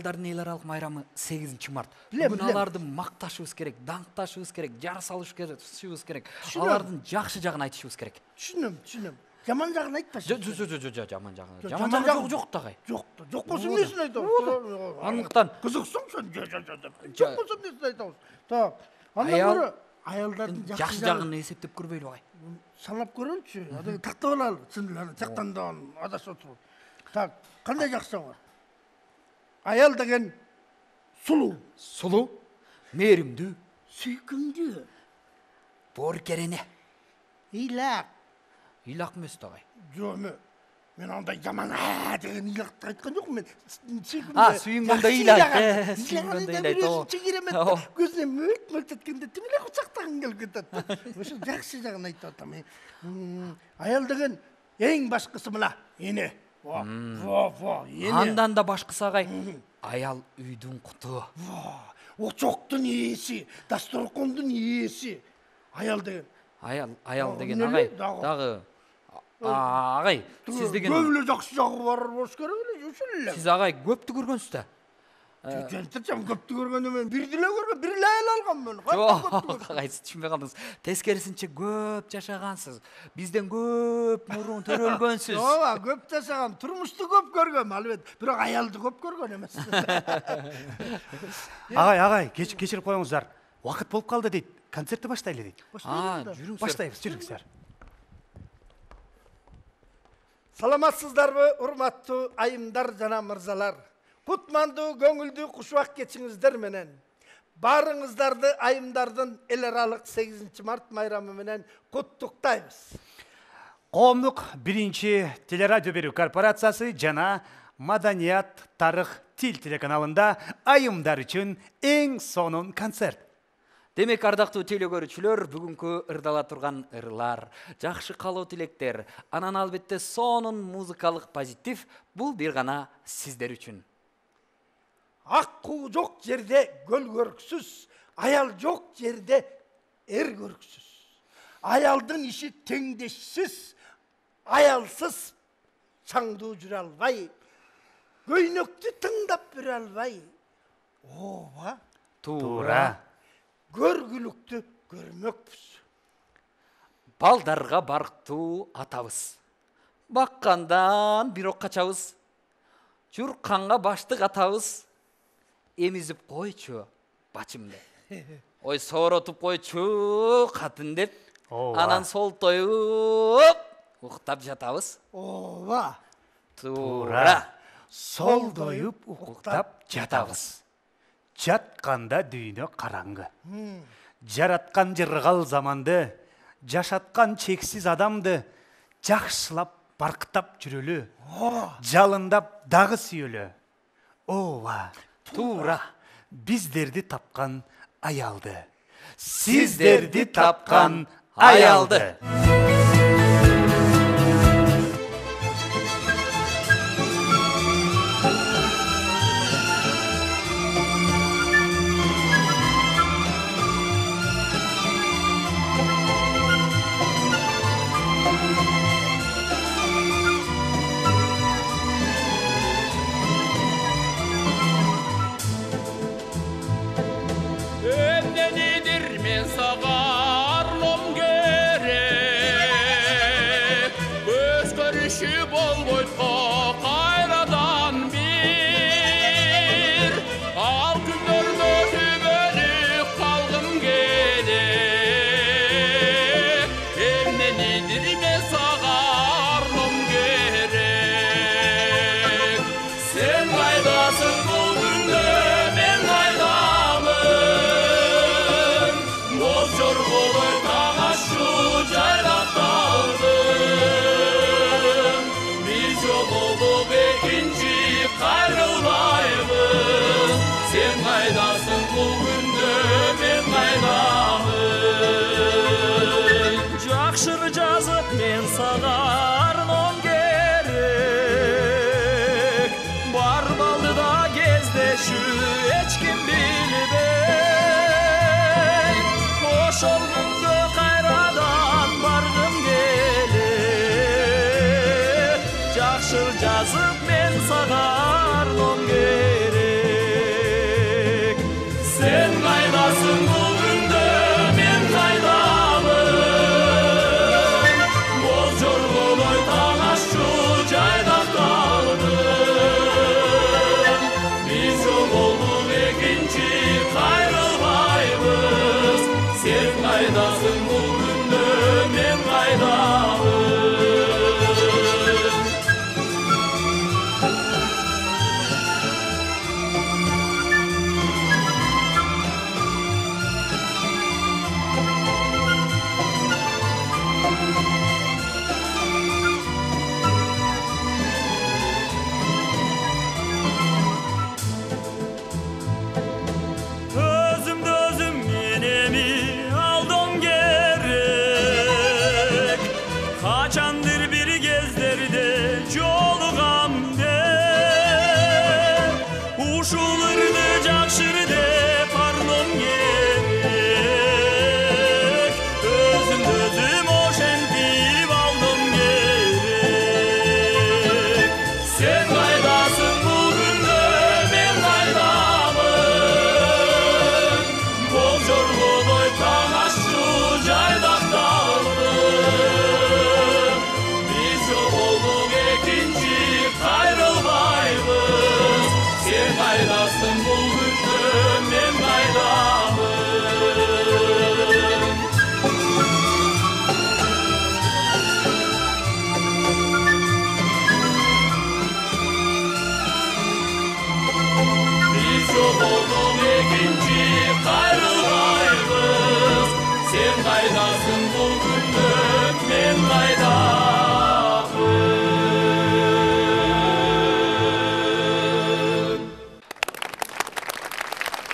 Аялдардын эл аралык майрамы 8-март. Билем, Бүгүн билем. аларды макташыбыз керек, даңкташыбыз керек, жар салышыбыз керек. Алардын жакшы жагын айтышыбыз керек. Түшүнөм. Жаман жагын айтпашы. Жок, жаман жагы. Жаман Жаман жагы жагы жок да кай. Жок болсо эмнесин айтабыз? Андыктан кызыксың сен. Жок болсо эмнесин айтабыз? Так. Андан Аял- көрө аялдардын жакшы жагын эсептеп көрбөйлү кай. санап көрөлүчү. Ада тактап алалы. Чындыгы жактандан адашып отуруп. Так, кандай жакшы бар? Аял деген сулуу, мээримдүү, сүйкүмдүү, бооркерене. ыйлак. Ыйлак эмес да кай. Жок, мен андай жаман деген ыйлакты айткан жокмун. Мен А, сүйүнгөндө ыйлайт, сүйүнгөндө ыйлайт. Чегиремет көзүнө мөлт эткенде тим эле кучактагың келип кетет. Ошо жакшы жагын айтып атам. Аял деген эң башкысы мына эне. Эне. Андан да башкысы агай. Аял үйдүн куту. Очоктун ээси, дасторкондун ээси. Аял деген. Аял деген агай дагы агай, сиз деген көп эле жакшы жагы бар болуш керек эле, ошол эле. сиз агай көптү көргөнсүз да. Жантырчам көптү көргөндө мен бир деле көргөм, бир эле аял алганмын. Жок, агай, сиз түшүнбөй калдыңыз. Тескерисинче көп жашагансыз. Бизден көп мурун төрөлгөнсүз. Ооба, көп жашагам, турмушту көп көргөм, албет. Бирок аялды көп көргөн эмес. Агай, кечирип коюңуздар. Убакыт болуп калды дейт. Концертти баштайлы дейт. Жүрүңүздөр. Баштайбыз, жүрүңүздөр. Саламатсыздарбы, урматтуу айымдар жана мырзалар? Кутмандуу, көңүлдүү кушубак кечиңиздер менен баарыңыздарды айымдардын эл аралык 8-март майрамы менен куттуктайбыз. Коомдук биринчи телерадио берүү корпорациясы жана Маданият, тарых, тил телеканалында айымдар үчүн эң сонун концерт. Демек, ардактуу теле көрүүчүлөр, бүгүнкү ырдала турган ырлар, жакшы каалоо тилектер, анан албетте сонун музыкалык позитив бул бир гана сиздер үчүн. Ак куу жок жерде көл көрксүз, аял жок жерде эр көрксүз. Аялдын иши теңдешсиз, аялсыз чаңдуу жүрө албай, көйнөктү тыңдап бере албай. Ооба, Туура. көргүлүктү көрмөкпүз. Балдарга барктуу атабыз. Баккандан бирок качабыз. Журканга баштык атабыз. Эмизип койчу бачым деп. Ой, сооротуп койчу катын деп. Анан солтоюп уктап жатабыз. Ооба, Туура. Солдоюп уктап жатабыз. Жатканда дүйнө караңгы. Жараткан жыргал заманды, жашаткан чексиз адамды жакшылап барктап жүрөлү. Жалындап дагы сүйөлү. Ооба, Туура. биздерди тапкан аялды. Сиздерди тапкан аялды. Эмнедидир мен сага арлом керек.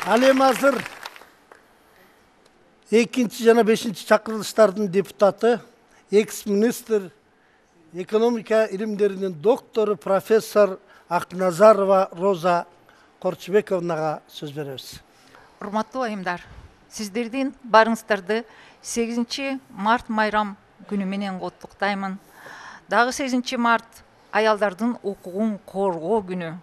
Ал эми азыр 2 жана 5 чакырылыштардын депутаты, экс-министр, экономика илимдеринин доктору, профессор Акназарова Роза Корчубековнага сөз беребиз. Урматтуу айымдар, сиздердин барыңыздарды 8 март майрам күнү менен куттуктаймын. Дагы 8 март аялдардын укугун коргоо күнү.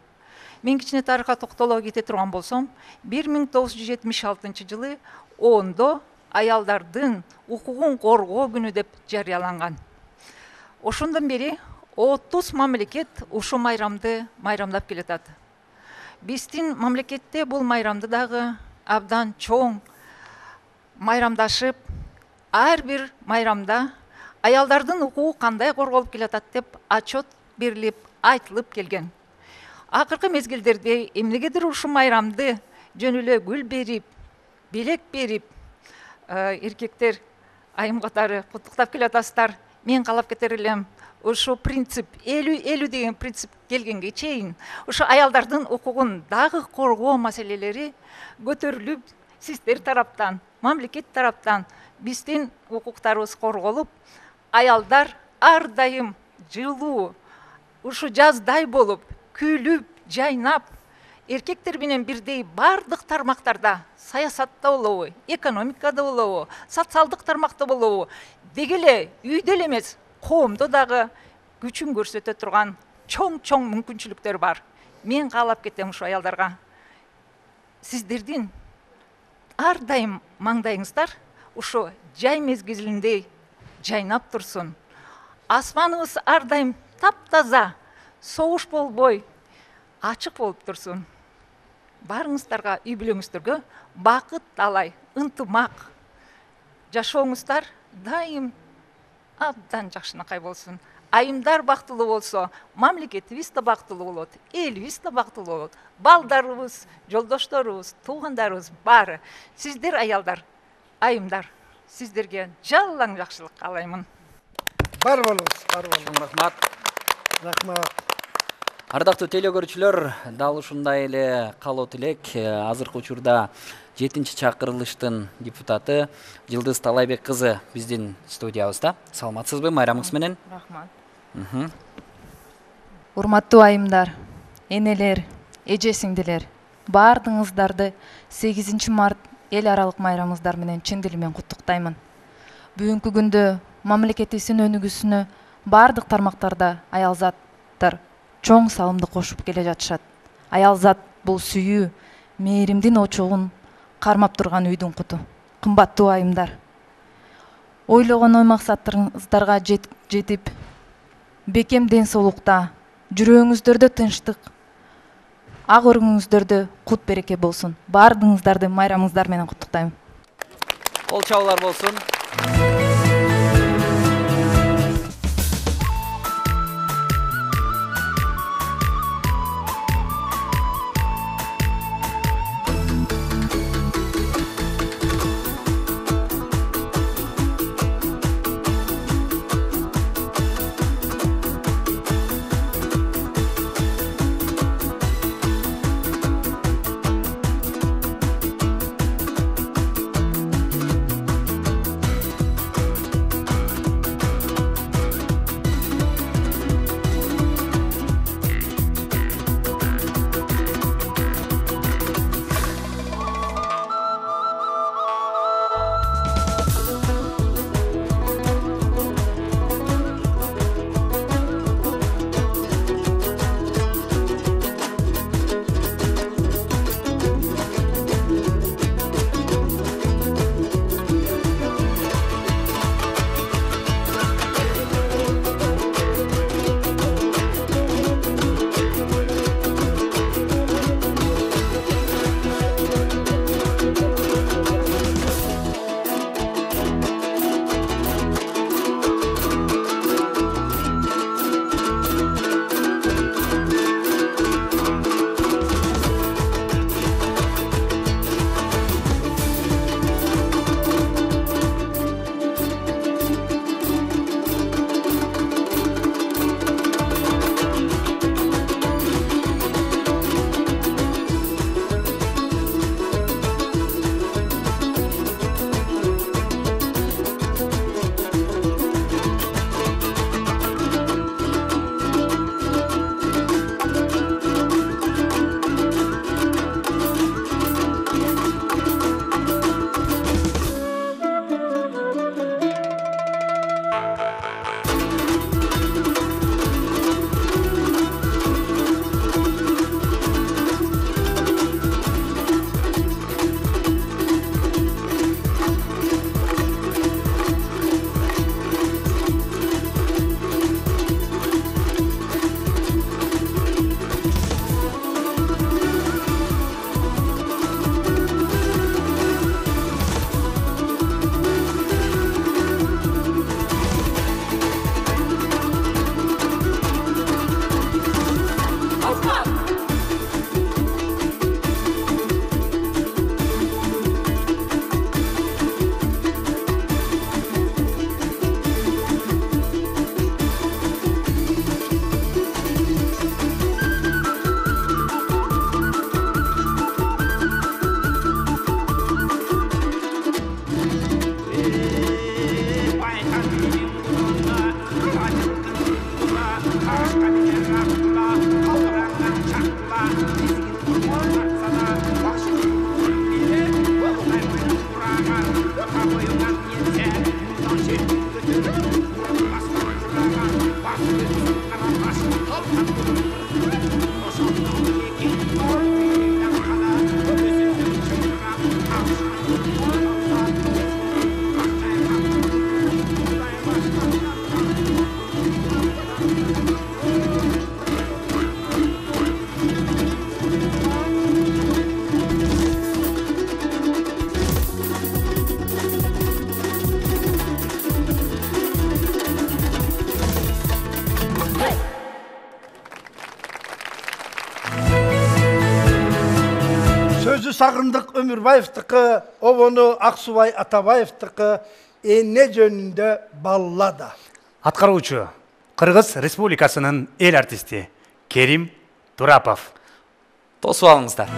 Мен кичине тарыхка токтоло кете турган болсом, 1976 жылы ООНдо аялдардын укугун коргоо күнү деп жарыяланган. Ошондон бери 30 мамлекет ушу майрамды майрамдап келатат. Биздин мамлекетте бул майрамды дагы абдан чоң майрамдашып, ар бир майрамда аялдардын укугу кандай корголуп келатат деп отчет берилип, айтылып келген. Акыркы мезгилдерде эмнегедир ушу майрамды жөн эле гүл берип, белек берип, эркектер айым катары куттуктап келатасыздар. Мен калап кетер элем, ушу принцип 50-50 деген принцип келгенге чейин ушу аялдардын укугун дагы коргоо маселелери көтөрүлүп, сиздер тараптан, мамлекет тараптан биздин укуктарыбыз корголуп, аялдар ар дайым жылуу, ушу жаздай болуп, күлүп, жайнап, эркектер менен бирдей бардык тармактарда, саясатта болобу, экономикада болобу, социалдык тармакта болобу, деги эле үйдө эле эмес, коомдо дагы күчүн көрсөтө турган чоң мүмкүнчүлүктөр бар. Мен каалап кетем ушу аялдарга. Сиздердин ар дайым маңдайыңыздар ушу жай мезгилинде жайнап турсун. Асманыбыз ар дайым таптаза, согуш болбой, ачык болуп турсун. Барыңыздарга, үй бүлөңүздөргө бакыт талай, ынтымак. Жашооңуздар дайым абдан жакшынакай болсун. Айымдар бактылуу болсо, мамлекетибиз да бактылуу болот, элибиз да бактылуу болот. Балдарыбыз, жолдошторубуз, туугандарыбыз баары. Сиздер аялдар, айымдар, сиздерге жалаң жакшылык каалаймын. Бар болуңуз, бар болуңуз. Рахмат. Рахмат. Ардактуу теле көрүүчүлөр, дал ушундай эле каалоо тилек азыркы учурда 7-чакырылыштын депутаты Жылдыз Талайбек кызы биздин студиябызда. Саламатсызбы майрамыңыз менен? Рахмат. Урматтуу айымдар, энелер, эже сиңдилер, баардыгыңыздарды 8 март эл аралык майрамыңыздар менен чын дилимден куттуктаймын. Бүгүнкү күндө мамлекетибиздин өнүгүүсүнө баардык тармактарда аялзаттар чоң салымды кошуп келе жатышат. Аялзат бул сүйүү, мээримдин очогун кармап турган үйдүн куту. Кымбаттуу айымдар, ойлогон ой максаттарыңыздарга жетип, бекем ден соолукта, жүрөгүңүздөрдө тынчтык, ак өрүгүңүздөрдө кут береке болсун. Баардыгыңыздарды майрамыңыздар менен куттуктайм. Кол чабуулар болсун. Сөзү Сагындык Өмүрбаевдики, обону Аксубай Атабаевдики, эне жөнүндө баллада. Аткаруучу Кыргыз Республикасынын эл артисти Керим Турапов. Тосуп алыңыздар.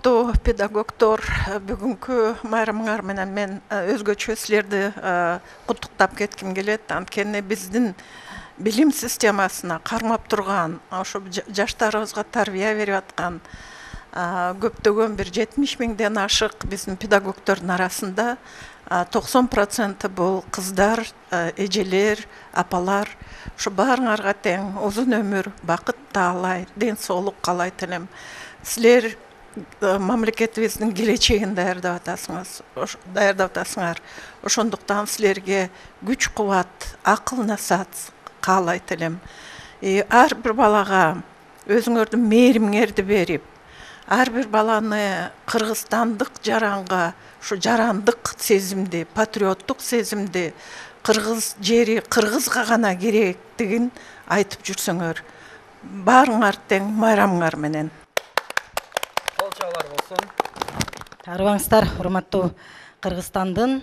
урматтуу педагогдор, бүгүнкү майрамыңар менен мен өзгөчө силерди куттуктап кетким келет. Анткени биздин билим системасына кармап турган, ошо жаштарыбызга тарбия берип аткан көптөгөн бир 70 миңден ашык биздин педагогдордун арасында 90% бул кыздар, эжелер, апалар. Ошо баарыңарга тең узун ömүр, бакыт таалайт, ден соолук каалайт элем. Силер мамлекетибиздин келечегин даярдап атасыңар. Ошондуктан силерге күч кубат, акыл насаат каалайт элем. Ар бир балага өзүңөрдүн мээримиңерди берип, ар бир баланы кыргызстандык жаранга, ушу жарандык сезимди, патриоттук сезимди, кыргыз жери кыргызга гана керектигин айтып жүрсөңөр, баарыңар тең майрамыңар менен. Кол чабуулар болсун. Арыбаңыздар, урматтуу Кыргызстандын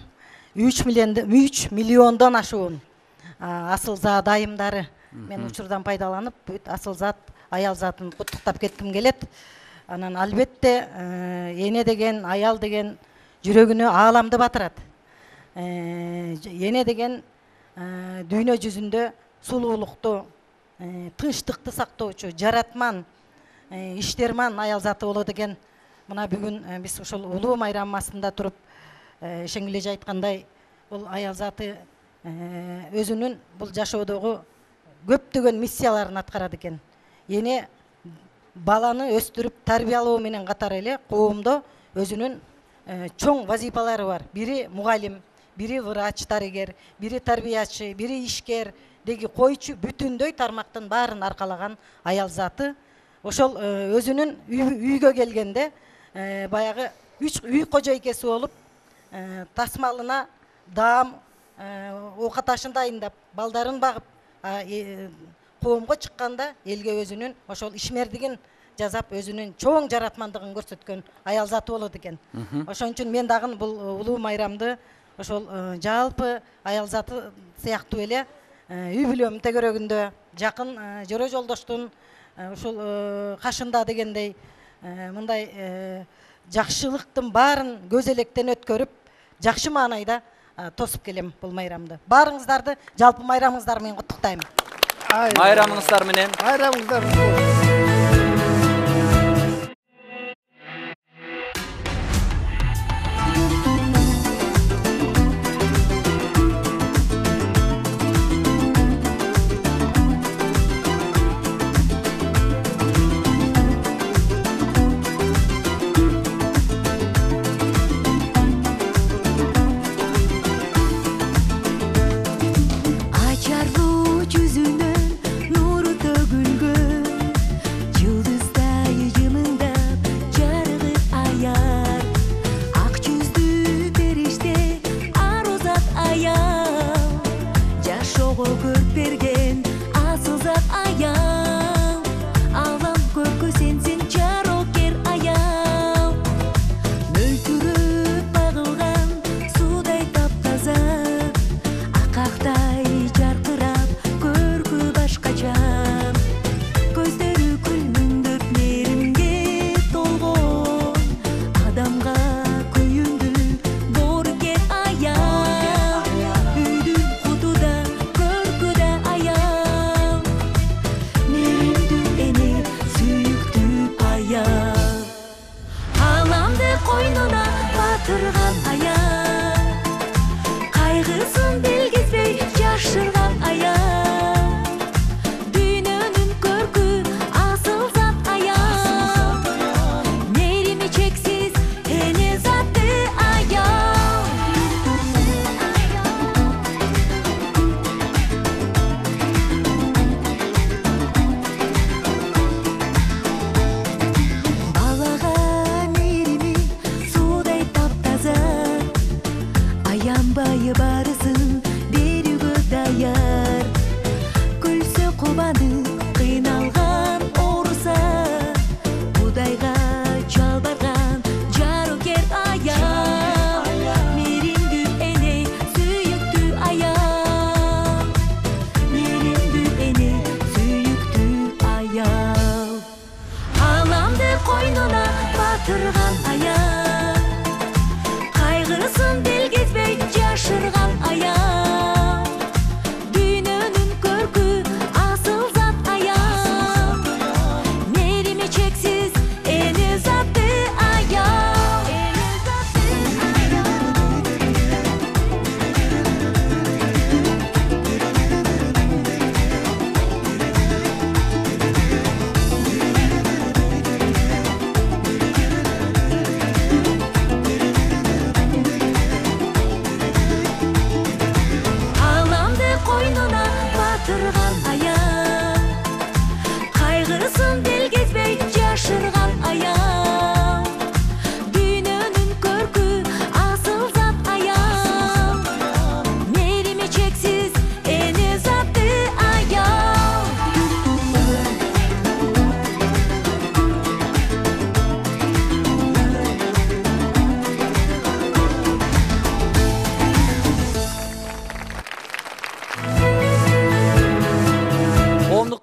3 миллиондон ашуун асылзат айымдары. Мен учурдан пайдаланып, бүт асылзат, аял затын куттуктап кетким келет. Анан албетте эне деген, аял деген жүрөгүнө ааламды батырат. Эне деген дүйнө жүзүндө сулуулукту, тынчтыкты сактоочу, жаратман, иштерман аял заты болот экен. Мына бүгүн биз ушул улуу майрамасында туруп, Шеңгележе айткандай, бул аял заты өзүнүн бул жашоодогу көптөгөн миссияларын аткарат экен. Эне баланы өстүрүп тарбиялоо менен катар эле коомдо өзүнүн чоң вазифалары бар. Бири мугалим, бири врач, дарыгер, бири тарбиячы, бири ишкер, деги койчу, бүтүндөй тармактын баарын аркалаган аял заты. Ошол өзүнүн үйгө келгенде баягы үй кожойкеси болуп, тасмалына даам, оокат ашын дайындап, балдарын багып, коомго чыкканда элге өзүнүн ошол ишмердигин жазап, өзүнүн чоң жаратмандыгын көрсөткөн аял заты болот экен. Ошон үчүн мен дагы бул улуу майрамды ошол жалпы аял заты сыяктуу эле үй бүлөм тегерегинде жакын жөрө жолдоштун ушул кашында дегендей мындай жакшылыктын баарын көз электен өткөрүп, жакшы маанайда тосуп келем бул майрамды. Баарыңыздарды жалпы майрамыңыздар менен куттуктайм. Майрамыңыздар менен. Майрамыңыздар болсун.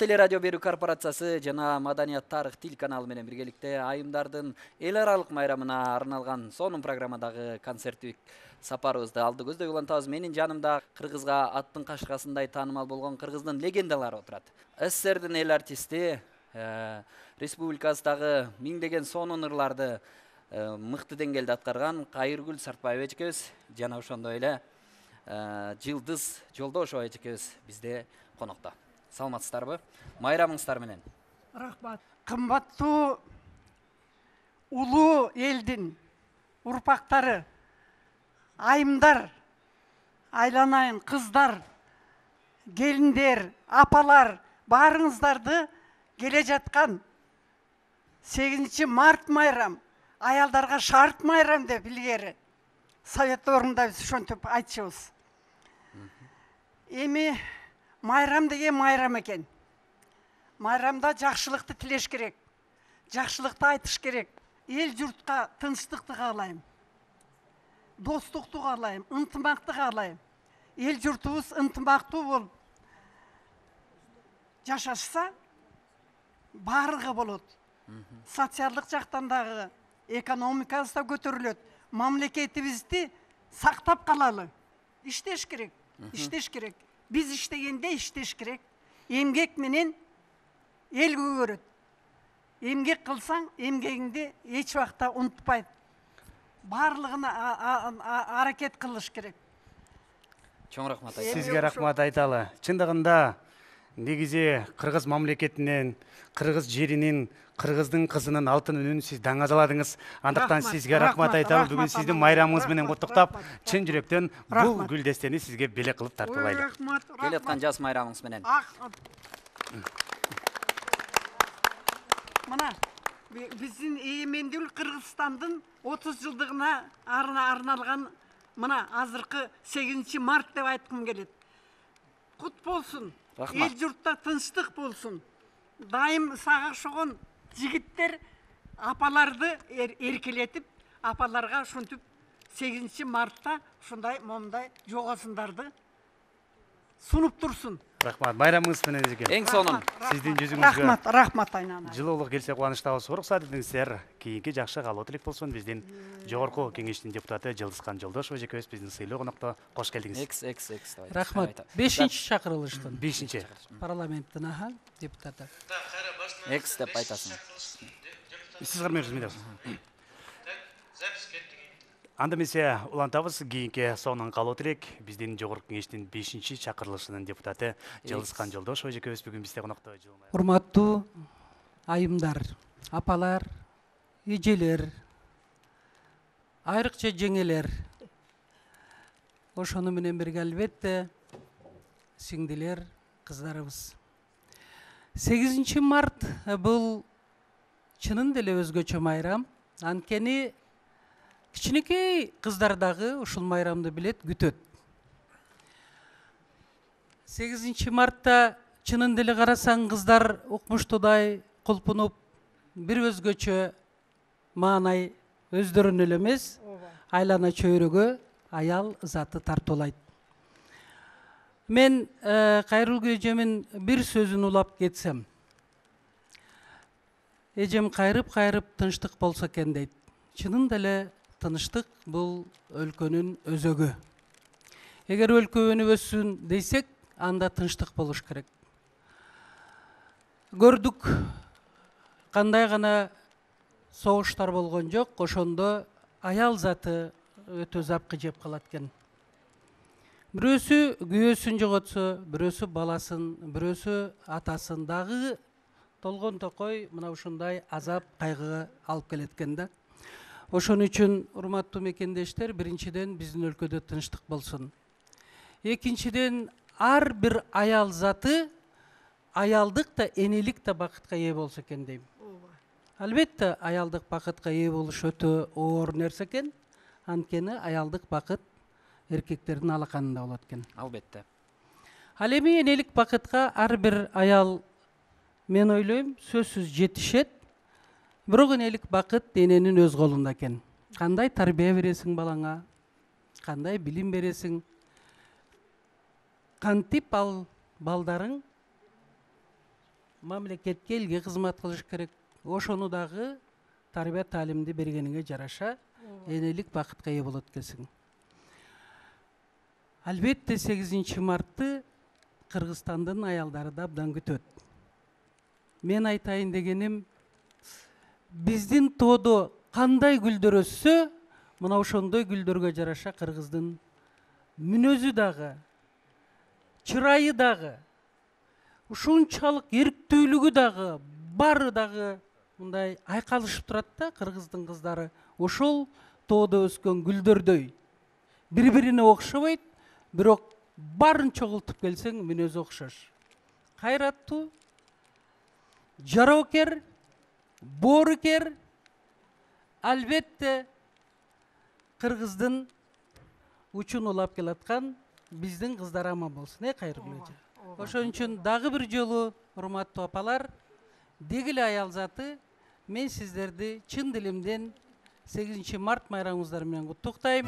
Теле радио берүү корпорациясы жана Маданият тарых тил каналы менен биргеликте айымдардын эл аралык майрамына арналган сонун программадагы концерттик сапарыбызды алды көздөй улантабыз. Менин жанымда кыргызга аттын кашкасындай таанымал болгон кыргыздын легендалары отурат. СССРдин эл артисти, республикабыздагы миңдеген сонун ырларды мыкты деңгээлде аткарган Кайыргүл Сартбаева эжекебиз жана ошондой эле Жылдыз Жолдошова эжекебиз бизде конокто. Саламатсыздарбы? Майрамыңыздар менен. Рахмат. Кымбаттуу улуу элдин урпактары, айымдар, айланайын кыздар, келиндер, апалар, баарыңыздарды келе жаткан 8 март майрам, аялдарга шарт майрам деп илгери совет орунда биз ошентип айтчубуз. Эми майрам деген майрам экен. Майрамда жакшылыкты тилеш керек. Жакшылыкты айтыш керек. Эл журтка тынчтыкты каалайм. Достукту каалайм, ынтымакты каалайм. Эл журтубуз ынтымактуу болуп жашашса, баарыгы болот. Социалдык жактан дагы экономикабыз да көтөрүлөт. Мамлекетибизди сактап калалы. Иштеш керек. Иштеш керек. Биз иштегенде иштеш керек. Эмгек менен эл көгөрөт. Эмгек кылсаң, эмгегиңди эч убакта унутпайт. Барлыгына аракет кылыш керек. Чоң рахмат айтам. Сизге рахмат айталы. Чындыгында негизи кыргыз мамлекетинен, кыргыз жеринин, кыргыздын кызынын алтын үнүн сиз даңазаладыңыз. Андыктан сизге рахмат айталы. Бүгүн сиздин майрамыңыз менен куттуктап, чын жүрөктөн бул гүлдестени сизге белек кылып тартуулайлы. Келаткан жаз майрамыңыз менен. Мына биздин эгемендүүлүк Кыргызстандын 30 жылдыгына арналган мына азыркы 8 март деп айткым келет. Кут болсун. Эл журтта тынчтык болсун. Дайым сага окшогон жигиттер апаларды эркелетип, апаларга ушинтип 8 мартта ушундай момундай жогосундарды сунуп турсун. Рахмат. Майрамыңыз менен эжеке. Эң сонун. Сиздин жүзүңүзгө Рахмат айнана. жылуулук келсе кубанычтабыз. Уруксат этиңиздер. Кийинки жакшы калуу тилек болсун. Биздин жогорку кеңештин депутаты Жылдызхан Жолдошова эжекебиз биздин сыйлуу конокто кош келдиңиз. Рахмат. 5-чи чакырылыштын. 5-чи. Парламенттин депутаты. Экс деп айтасың. Сиз кырмайсыз. Анда эмесе улантабыз кийинки сонун калуу тилек биздин жогорку кеңештин 5-чи чакырылышынын депутаты Жылдызхан Жолдошова эжекебиз бүгүн бизде конокто. Урматтуу айымдар, апалар, эжелер, айрыкча жеңелер. Ошону менен бирге албетте сиңдилер, кыздарыбыз. 8 март бул чынын деле өзгөчө майрам. Анткени кичинекей кыздар дагы ушул майрамды билет, күтөт. 8 мартта чынын деле карасаң кыздар укмуштуудай кулпунуп, бир өзгөчө маанай өздөрүнө эле эмес, айлана чөйрөгө аял заты тартуулайт. Мен Кайыргүл эжемин бир сөзүн улап кетсем, эжем кайрып тынчтык болсо экен дейт. Чынын деле тыныштык бул өлкөнүн өзөгү. Эгер өлкө өнүп өссүн дейсек, анда тынчтык болуш керек. Көрдүк, кандай гана согуштар болгон жок, ошондо аял заты өтө запкы жеп калат экен. Бирөөсү күйөөсүн жоготсо, бирөөсү баласын, бирөөсү атасын дагы толгон токой мына ушундай азап кайгыга алып келет экен да. Ошон үчүн урматтуу мекендештер, биринчиден биздин өлкөдө тынчтык болсун. Экинчиден ар бир аял заты аялдык да, энелик да бакытка ээ болсо экен дейм. Албетте аялдык бакытка ээ болуш өтө оор нерсе экен. Анткени аялдык бакыт эркектердин алаканында болот экен. Албетте. Ал эми энелик бакытка ар бир аял, мен ойлойм, сөзсүз жетишет. Бирок энелик бакыт эненин өз колунда экен. Кандай тарбия бересиң балаңа, кандай билим бересиң, кантип ал балдарың мамлекетке элге кызмат кылыш керек. Ошону дагы тарбия таалимди бергениңе жараша энелик бакытка ээ болот экенсиң. Албетте 8 мартты Кыргызстандын аялдары да абдан күтөт. Мен айтайын дегеним, биздин тоодо кандай гүлдөр өссө, мына ошондой гүлдөргө жараша кыргыздын мүнөзү дагы, чырайы дагы, ушунчалык эрктүүлүгү дагы, баары дагы мындай айкалышып турат да. Кыргыздын кыздары ошол тоодо өскөн гүлдөрдөй бири-бирине окшобойт, бирок баарын чогултуп келсең мүнөзү окшош. Кайраттуу, жароокер, боорукер, албетте кыргыздын учун улап келаткан биздин кыздар аман болсун, кайрылуу эже. Ошон үчүн дагы бир жолу, урматтуу апалар, дегиле аял заты, мен сиздерди чын дилимден 8 март майрамыңыздар менен куттуктайм.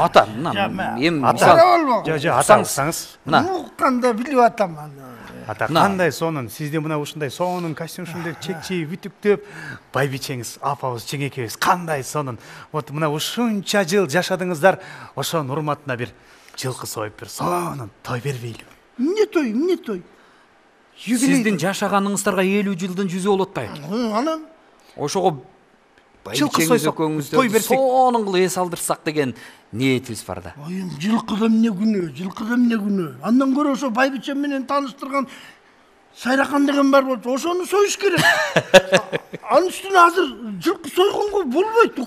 ата мына эми ата болбогу. Жо ата алсаңыз. Укканда билип атам аны. ата кандай сонун сизде мына ушундай сонун костюмшундай чекчей бүтүктөп байбичеңиз апабыз жеңекебиз кандай сонун вот мына ушунча жыл жашадыңыздар ошонун урматына бир жылкы союп бир сонун той бербейлиби? Эмне той? Сиздин жашаганыңыздарга 50 жылдын жүзү болуп атпайбы? Анан Ошого Жылкы байбичеңиз сойсок, той экөөңүздөрдү берсек. сонун кылып эс алдырсак деген ниетибиз бар да. Айым жылкыда эмне күнөө? Андан көрө ошо байбичем менен тааныштырган Сайракан деген бар болчу, ошону союш керек. Анын үстүнө азыр жылкы сойгонго болбойт,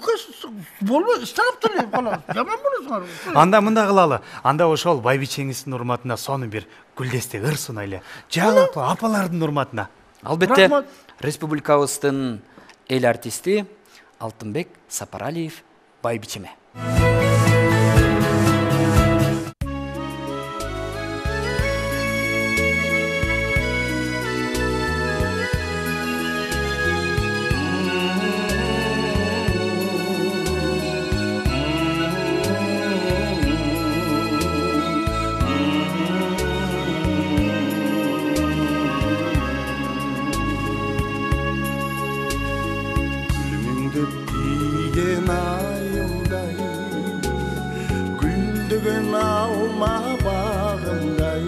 болбойт, станып эле калабыз. Жаман болосуңар. Анда мында кылалы. Анда ошол байбичеңиздин урматына сонун бир гүлдестек ыр сунайлы. Жалпы апалардын урматына. Албетте Рахмат. республикабыздын эл артисти Алтынбек Сапаралиев байбичеме. Gülden alma bağımday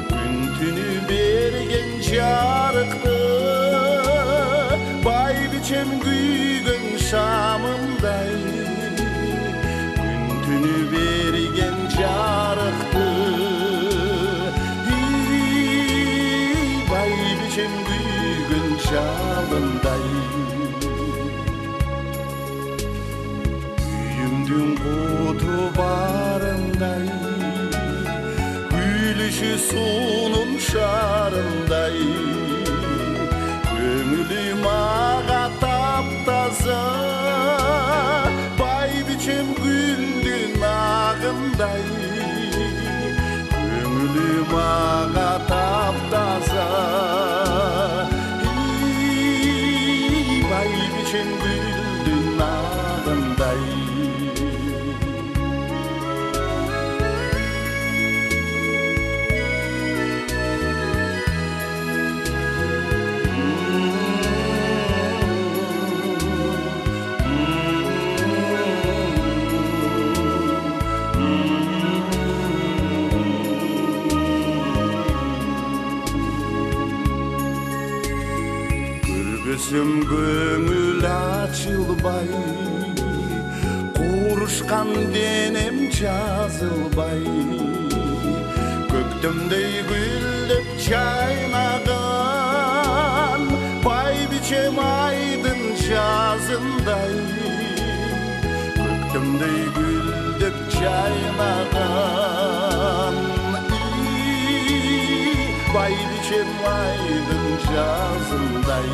Gün tünü bergen çarıktı Bay biçem güygün şamımday Gün tünü bergen çarıktı Bay biçem güygün şamımday Dün kutu barınday Gülüşü sunun şarınday Kömülüm ağa taptaza Bay biçem güldün ağınday Kömülüm ağa taptaza Bay biçem güldün ağınday Gözüm gömül açılbay Kuruşkan denem жазылбай Көктөмдөй гүлдеп чайнаган Бай бичем айдын жазындай Көктөмдөй гүлдеп чайнаган Бай бичем айдын жазындай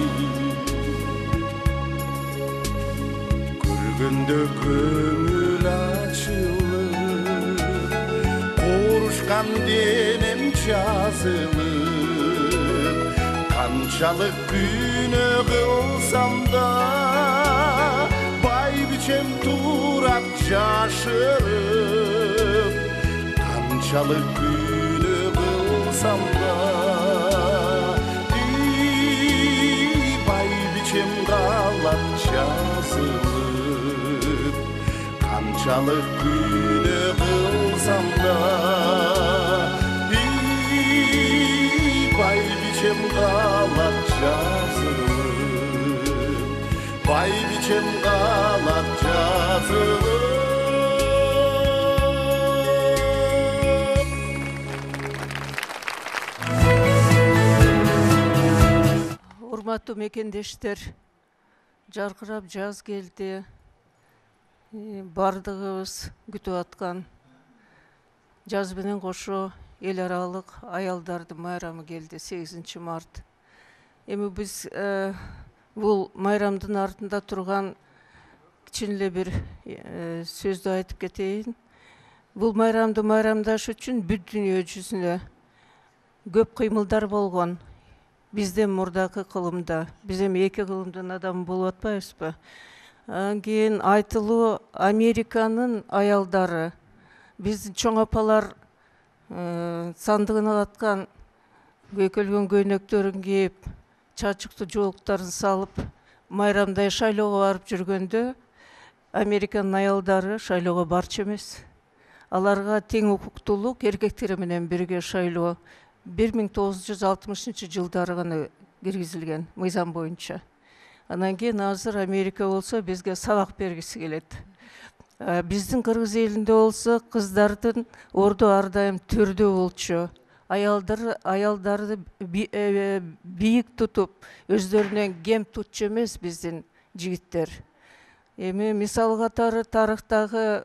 Көргөндө көмүл ачылып Курушкан денем жазылып Канчалык күнөө кылсам да Бай бичем турат жашырып Канчалык күнөө кылсам да Бай бичем калат жазылып Канчалык күнөө кылсам да Бай бичем калат жазылып Бай бичем калат жазылып Урматтуу мекендештер, жаркырап жаз келди. Бардыгыбыз күтүп аткан жаз менен кошо эл аралык аялдардын майрамы келди 8 март. Эми биз бул майрамдын артында турган кичине эле бир сөздү айтып кетейин. Бул майрамды майрамдаш үчүн бүт дүйнө жүзүнө көп кыймылдар болгон. Бизден мурдакы кылымда, биз эми эки кылымдын адамы болуп атпайбызбы? Анан кийин айтылуу Американын аялдары, биздин чоң апалар сандыгын аткан көйкөлгөн көйнөктөрүн кийип, чачыктуу жоолуктарын салып, майрамдай шайлоого барып жүргөндө Американын аялдары шайлоого барчу эмес. Аларга тең укуктуулук эркектер менен бирге шайлоо 1960 жылдары гана киргизилген мыйзам боюнча. Анан кийин азыр Америка болсо бизге сабак бергиси келет. Биздин кыргыз элинде болсо кыздардын орду ар дайым төрдө болчу. Аялдарды бийик тутуп, өздөрүнөн кем тутчу эмес биздин жигиттер. Эми мисал катары тарыхтагы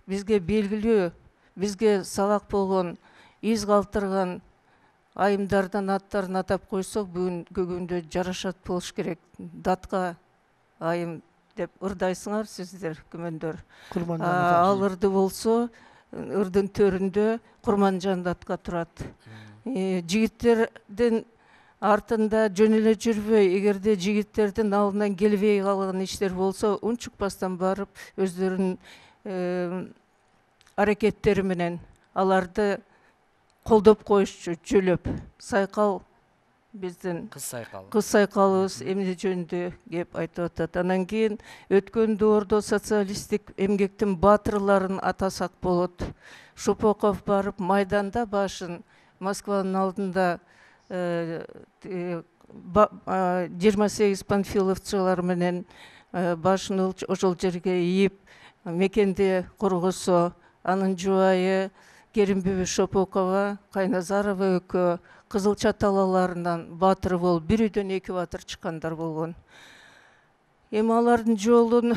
бизге белгилүү, бизге сабак болгон, из калтырган айымдардын аттарын атап койсок, бүгүнкү күндө жарашат болуш керек. Датка айым деп ырдайсыңар сиздер, күмөндөр. Ал ырды болсо, ырдын төрүндө Курманжан датка турат. Жигиттердин артында жөн эле жүрбөй, эгерде жигиттердин алдынан келбей калган иштер болсо, унчукпастан барып өздөрүнүн аракеттери менен аларды колдоп коюшчу, жөлөп. Сайкал биздин кыз сайкалыбыз эмне жөнүндө кеп айтып атат. Анан кийин өткөн доордо социалисттик эмгектин баатырларын атасак болот. Шопоков барып майданда башын Москванын алдында 28 панфиловчулар менен башын ошол жерге ийип мекенди коргосо, анын жубайы Керимбүбү Шопокова, Кайназарова экөө Кызылча талаларынан баатыр болуп, бир үйдөн 2 баатыр чыккандар болгон. Эми алардын жолун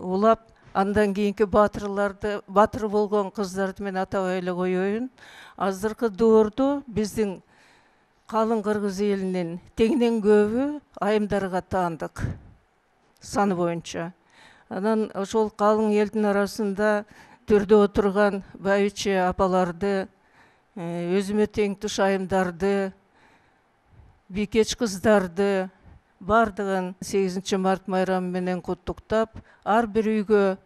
улап, андан кийинки баатыр болгон кыздарды мен атабай эле коеюн. Азыркы доордо биздин калың кыргыз элинин тегинен көбү айымдарга таандык саны боюнча. Анан ошол калың элдин арасында төрдө отурган байыче апаларды, өзүмө тең туш айымдарды, бийкеч кыздарды бардыгын 8 март майрамы менен куттуктап, ар бир үйгө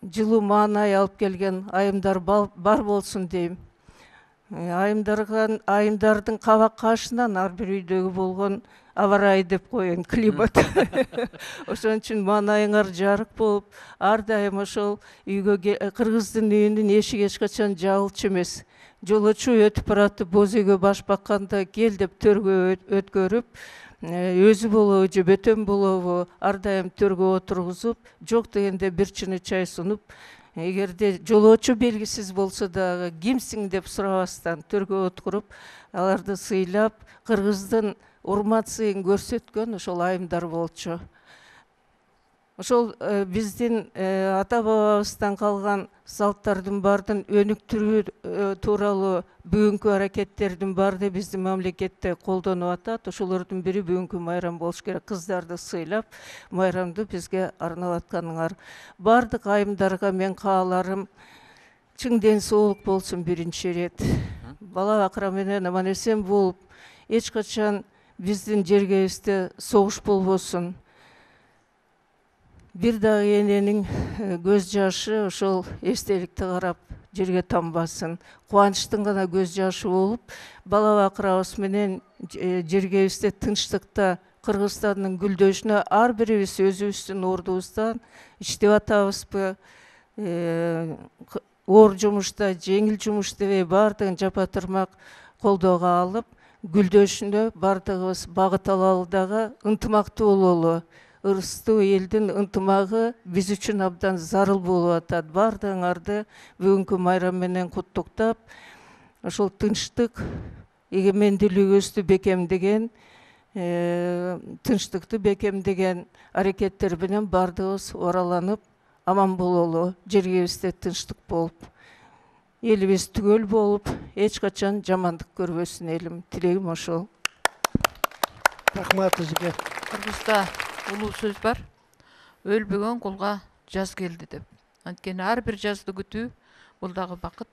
жылуу маанай алып келген айымдар бар болсун дейм. Айымдардын кабак кашынан ар бир үйдөгү болгон аварай деп коеюн, климат. Ошон үчүн маанайыңар жарык болуп, ар дайым ошол үйгө кыргыздын үйүнүн эшиги эч качан жабылчу эмес. Жолочу өтүп баратып, боз үйгө баш бакканда кел деп төргө өткөрүп, өзү болобу же бөтөн болобу ар дайым төргө отургузуп, жок дегенде бир чыны чай сунуп, эгерде жолоочу белгисиз болсо дагы кимсиң деп сурабастан төргө отуруп, аларды сыйлап, кыргыздын урмат сыйын көрсөткөн ошол айымдар болчу. Ошол биздин ата бабабыздан калган салттардын бардын өнүктүрүү тууралуу бүгүнкү аракеттердин баары биздин мамлекетте колдонуп атат. Ошолордун бири бүгүнкү майрам болуш керек. Кыздарды сыйлап, майрамды бизге арнап атканыңар. Бардык айымдарга мен кааларым чың ден соолук болсун биринчи ирет. Бала бакыра менен аман эсен болуп, эч качан биздин жергебизде согуш болбосун. Бир дагы эненин көз жашы ошол эстеликти карап жерге тамбасын. Кубанычтын гана көз жашы болуп, бала бакырабыз менен жергебизде тынчтыкта Кыргызстандын гүлдөшүнө ар бирибиз өзүбүздүн ордубуздан иштеп атабызбы, оор жумушта, жеңил жумуш дебей бардыгын жапа тырмак колдоого алып, гүлдөшүнө бардыгыбыз багыт алалы дагы ынтымактуу бололу. Ырыстуу элдин ынтымагы биз үчүн абдан зарыл болуп атат. Бардыгыңарды бүгүнкү майрам менен куттуктап, ошол тынчтык, эгемендүүлүгүбүздү бекемдеген, тынчтыкты бекемдеген аракеттер менен бардыгыбыз ораланып, аман бололу, жергебизде тынчтык болуп, элибиз түгөл болуп, эч качан жамандык көрбөсүн элим. Тилегим ошол. Рахмат сизге. Кыргызда улуу сөз бар. Өлбөгөн кулга жаз келди деп. Анткени ар бир жазды күтүү бул дагы бакыт,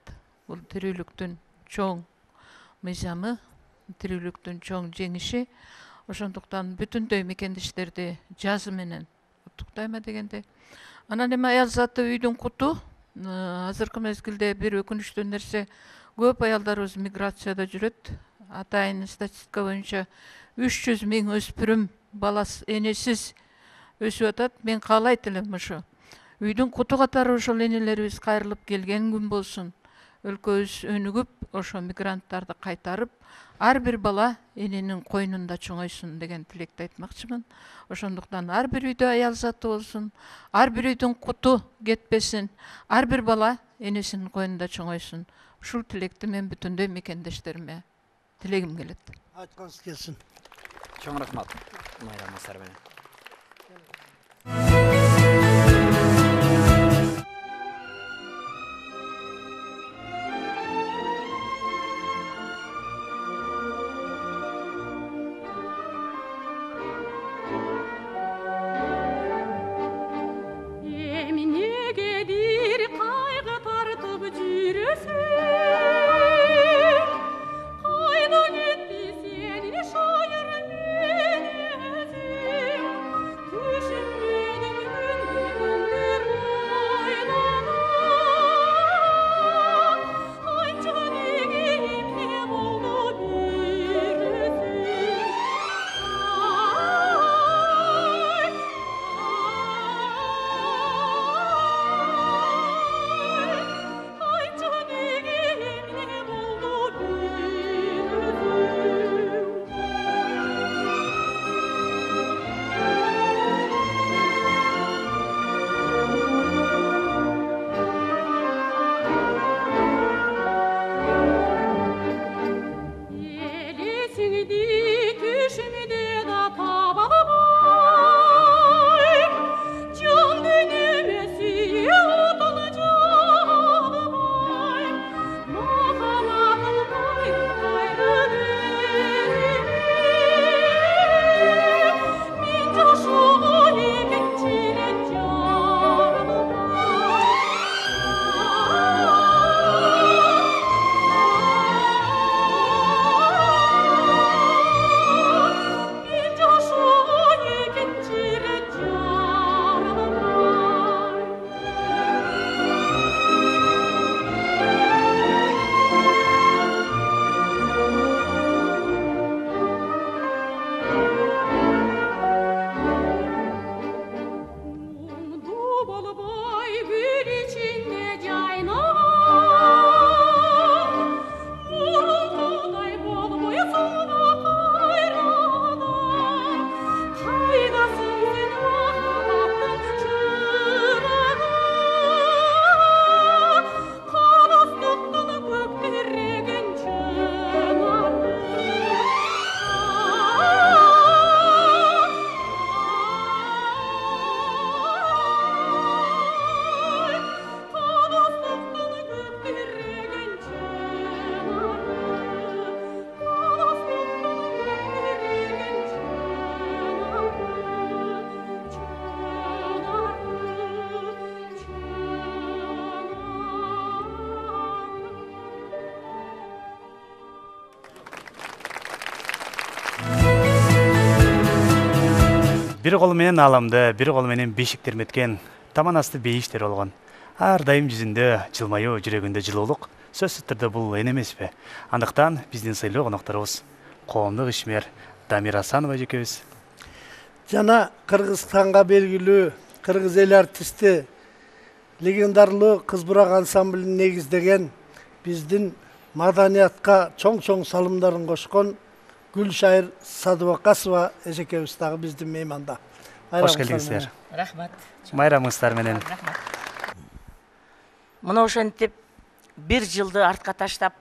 бул тирүүлүктүн чоң мыйзамы, тирүүлүктүн чоң жеңиши. Ошондуктан бүтүндөй мекендештерди жазы менен куттуктайма дегенде. Анан эми аял заты үйдүн куту. Азыркы мезгилде бир өкүнүчтүү нерсе, көп аялдарыбыз миграцияда жүрөт. Атайын статистика боюнча 300 000 өспүрүм баласы энесиз өсүп атат. Мен каалайт элем ошо үйдүн куту катары ошол энелерибиз кайрылып келген күн болсун. Өлкөбүз өнүгүп, ошо мигранттарды кайтарып, ар бир бала эненин койнунда чоңойсун деген тилекти айтмакчымын. Ошондуктан ар бир үйдө аял заты болсун, ар бир үйдүн куту кетпесин, ар бир бала энесинин койнунда чоңойсун. Ушул тилекти мен бүтүндөй мекендештериме тилегим келет. Айткыңыз келсин. Чоң рахмат. Майрам Асар менен. Бир колу менен ааламды, бир колу менен бешик терметкен таман асты бейиштер болгон. Ар дайым жүзүндө жылмаюу, жүрөгүндө жылуулук сөзсүз түрдө бул эне эмеспи? Андыктан биздин сыйлуу конокторубуз коомдук ишмер Дамира Асанова эжекебиз жана Кыргызстанга белгилүү кыргыз эл артисти, легендарлуу Кыз Бурак ансамблин негиздеген, биздин маданиятка чоң салымдарын кошкон Гүлшайыр Садыбакасова эжекебиз дагы биздин мейманда. Кош келиңиздер. Рахмат. Майрамыңыздар менен. Мына ошентип бир жылды артка таштап,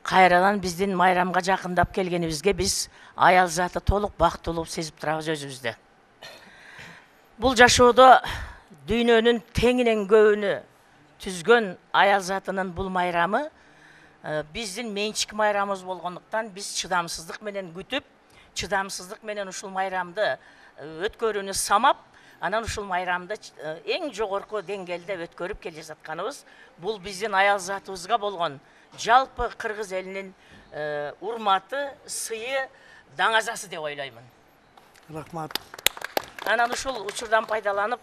кайрадан биздин майрамга жакындап келгенибизге биз аял заты толук бактылуу сезип турабыз өзүбүздү. Бул жашоодо дүйнөнүн теңинен көбүнү түзгөн аял затынын бул майрамы биздин менчик майрамыбыз болгондуктан биз чыдамсыздык менен күтүп, чыдамсыздык менен ушул майрамды өткөрүүнү самап, анан ушул майрамды эң жогорку деңгээлде өткөрүп келе жатканыбыз бул биздин аял затыбызга болгон жалпы кыргыз элинин урматы, сыйы, даңазасы деп ойлоймун. Рахмат. Анан ушул учурдан пайдаланып,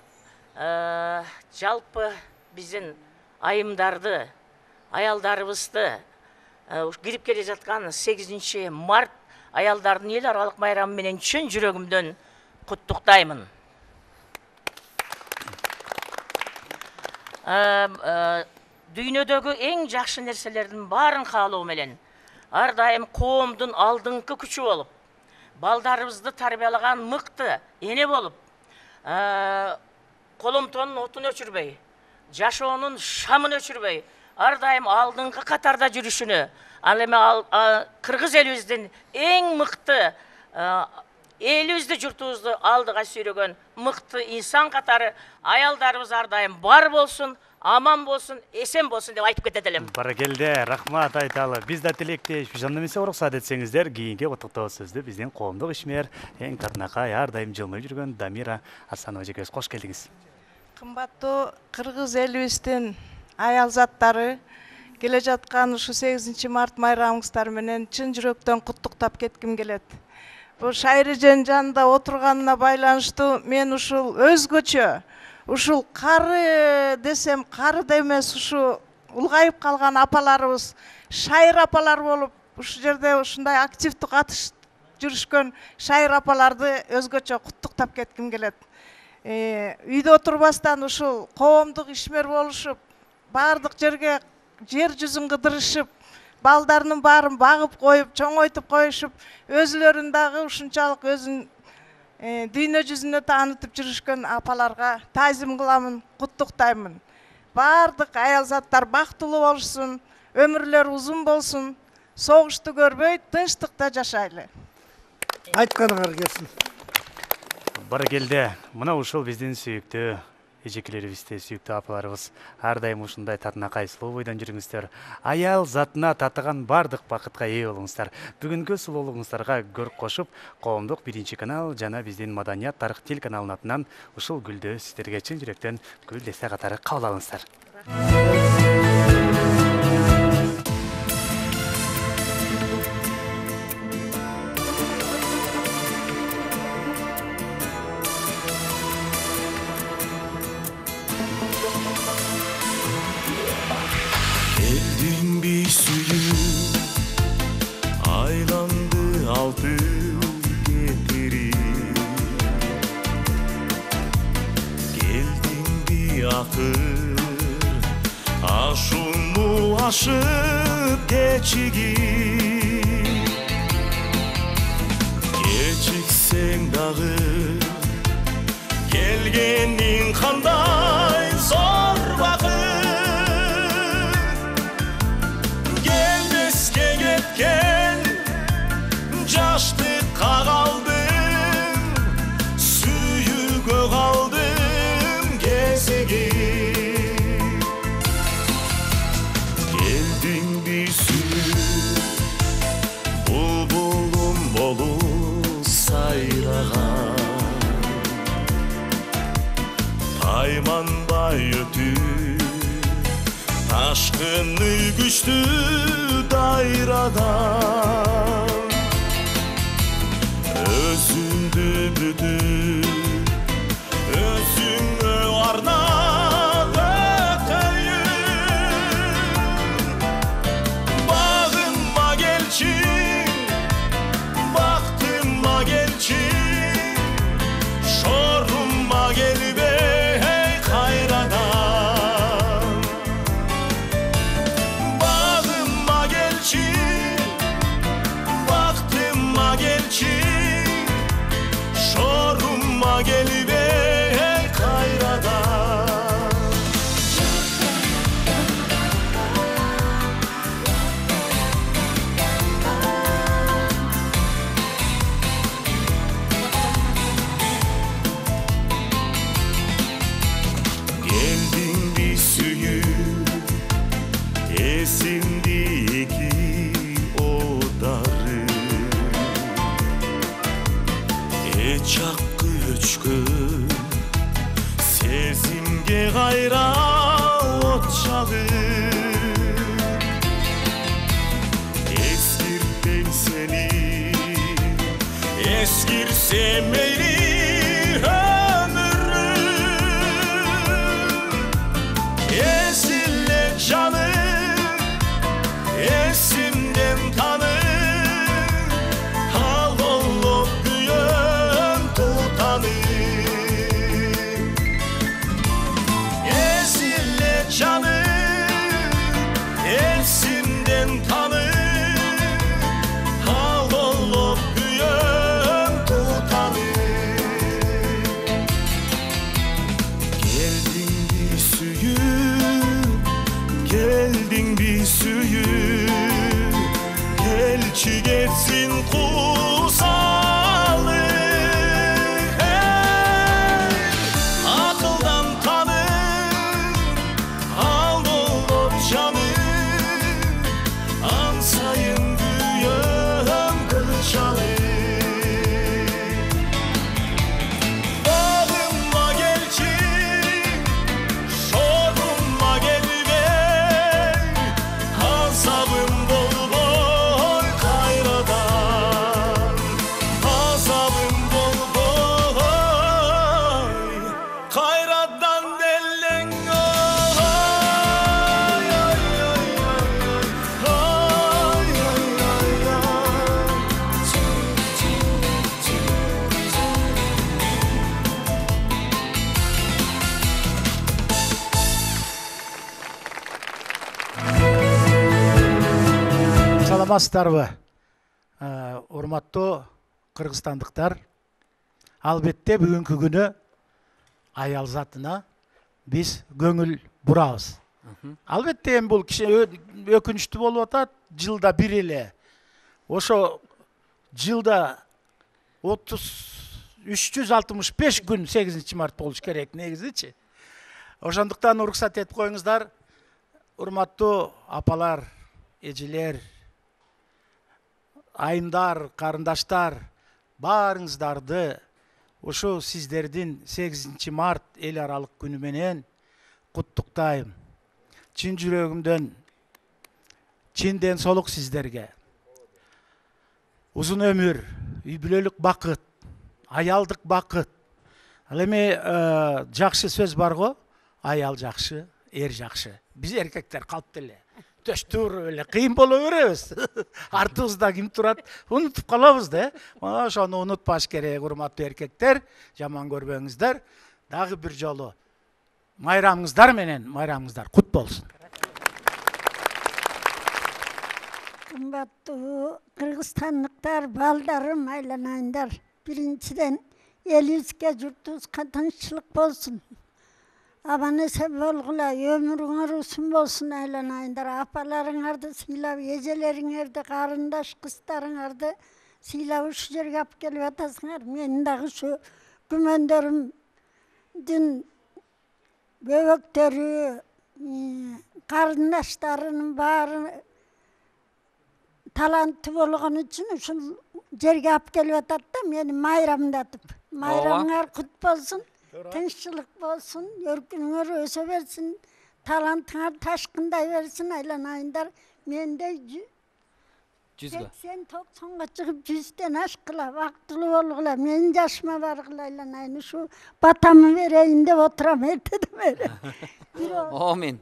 жалпы биздин айымдарды, аялдарыбызды кирип келе жаткан 8 март аялдардын эл аралык майрамы менен чын жүрөгүмдөн куттуктаймын. Дүйнөдөгү эң жакшы нерселердин баарын каалоо менен ар дайым коомдун алдыңкы күчү болуп, балдарыбызды тарбиялаган мыкты эне болуп, коломтонун отун өчүрбөй, жашоонун шамын өчүрбөй, ар дайым алдыңкы катарда жүрүшүнү, ал эми кыргыз элибиздин эң мыкты элибизди, журтубузду алдыга сүйрөгөн мыкты инсан катары аялдарыбыз ар дайым бар болсун, аман болсун, эсен болсун деп айтып кетет элем. Баракелде, рахмат айталы. Биз да тилектешпиз. Анда эмесе уруксат этсеңиздер, кийинки куттуктоо сөздү биздин коомдук ишмер, эң татынакай, ар дайым жылмайып жүргөн Дамира Асанова эжекебиз кош келдиңиз. Кымбаттуу кыргыз элибиздин аял заттары, келе жаткан ушу 8 март майрамыңыздар менен чын жүрөктөн куттуктап кетким келет. Бул Шайыр эженин жанында отурганына байланыштуу мен ушул өзгөчө, ушул кары десем кары да эмес, ушу улгайып калган апаларыбыз, Шайыр апалар болуп, ушул жерде ушундай активдүү катышып жүрүшкөн Шайыр апаларды өзгөчө куттуктап кетким келет. Үйдө отурбастан ушул коомдук ишмер болушуп, баардык жерге жер жүзүн кыдырышып, балдарынын баарын багып коюп, чоңойтуп коюшуп, өзүлөрүн дагы ушунчалык өзүн дүйнө жүзүнө таанытып жүрүшкөн апаларга таазим кыламын, куттуктаймын. Баардык аял заттар бактылуу болушун, өмүрлөрү узун болсун, согушту көрбөй, тынчтыкта жашайлы. Айтканыңар келсин. Баракелде, мына ушул биздин сүйүктүү эжекелерибизде, сүйүктүү апаларыбыз ар дайым ушундай татынакай сулуу бойдон жүрүңүздөр. Аял затына татыган бардык бакытка ээ болуңуздар. Бүгүнкү сулуулугуңуздарга көрк кошуп, коомдук 1-канал жана биздин Маданият тарых телеканалынын атынан ушул гүлдү сиздерге чын жүрөктөн гүл десе катары кабыл алыңыздар. Ашуну ашып кечигип, кечиксең дагы келгениң кандай зор бакыт. Келбеске кеткен жаштыкка калдым, сүйүүгө калдым кезигип. Булбулум болуп сайраган, тайманбай өтүп ташкыны күчтүү дайрадан. Өзүңдү бүтүп, өзүңө арнап өтөйүн, багыма келчи, бактыма келчи, шорумма келбей кайрадан. Багыма келчи, бактыма келчи, шорумма келбей кайрадан. Келдиңби сүйүп, эсимди эки одары, чаккы өчкөн сезимге кайра от чагып. Эскиртпейм сени, эскирсе мейли өмүрүм. Эсиле жаным, эсим берсин кусалык. Акылдан танып ал болот жаным, ансайын күйөм кылчалык. Багымма келчи, шогумма келбей, азабым болбой кайрадан, азабым болбой кайрадан делең. Саламатсыздарбы, урматтуу кыргызстандыктар? Албетте бүгүнкү күнү аял затына биз көңүл бурабыз. Албетте эми бул өкүнүчтүү болуп атат, жылда бир эле. Ошо жылда 365 күн 8 март болуш керек негизичи. Ошондуктан уруксат этип коюңуздар, урматтуу апалар, эжелер, айымдар, карындаштар, баарыңыздарды ошо сиздердин 8 март эл аралык күнү менен куттуктайм. Чын жүрөгүмдөн чын ден соолук сиздерге. Узун өмүр, үй бүлөлүк бакыт, аялдык бакыт. Ал эми жакшы сөз бар го, аял жакшы, эр жакшы. Биз эркектер калп эле төштүр эле кыйын боло беребиз. Артыбызда ким турат, унутуп калабыз да. Ошону унутпаш керек, урматтуу эркектер, жаман көрбөңүздөр. Дагы бир жолу майрамыңыздар менен, майрамыңыздар кут болсун. Кымбаттуу кыргызстандыктар, балдарым, айланайындар. Биринчиден элибизге, журтубузга тынччылык болсун. Аман эсен болгула, өмүрүңөр узун болсун айланайындар. Апаларыңарды сыйлап, эжелериңерди, карындаш кыздарыңарды сыйлап ушул жерге алып келип атасыңар. Менин дагы ушу күмөндөрүмдүн бөбөктөрү, карындаштарынын баары таланттуу болгон үчүн ушул жерге алып келип атат да, мени майрамдатып. Майрамыңар кут болсун. Тынччылык болсун, өркүнүңөр өсө берсин, талантыңар ташкындай берсин айланайындар. Менде 80-90га чыгып 100ден ашкыла, бактылуу болгула, менин жашыма баргыла айланайын. Ушу батамы берейин деп отурам эртеден бери. Амин.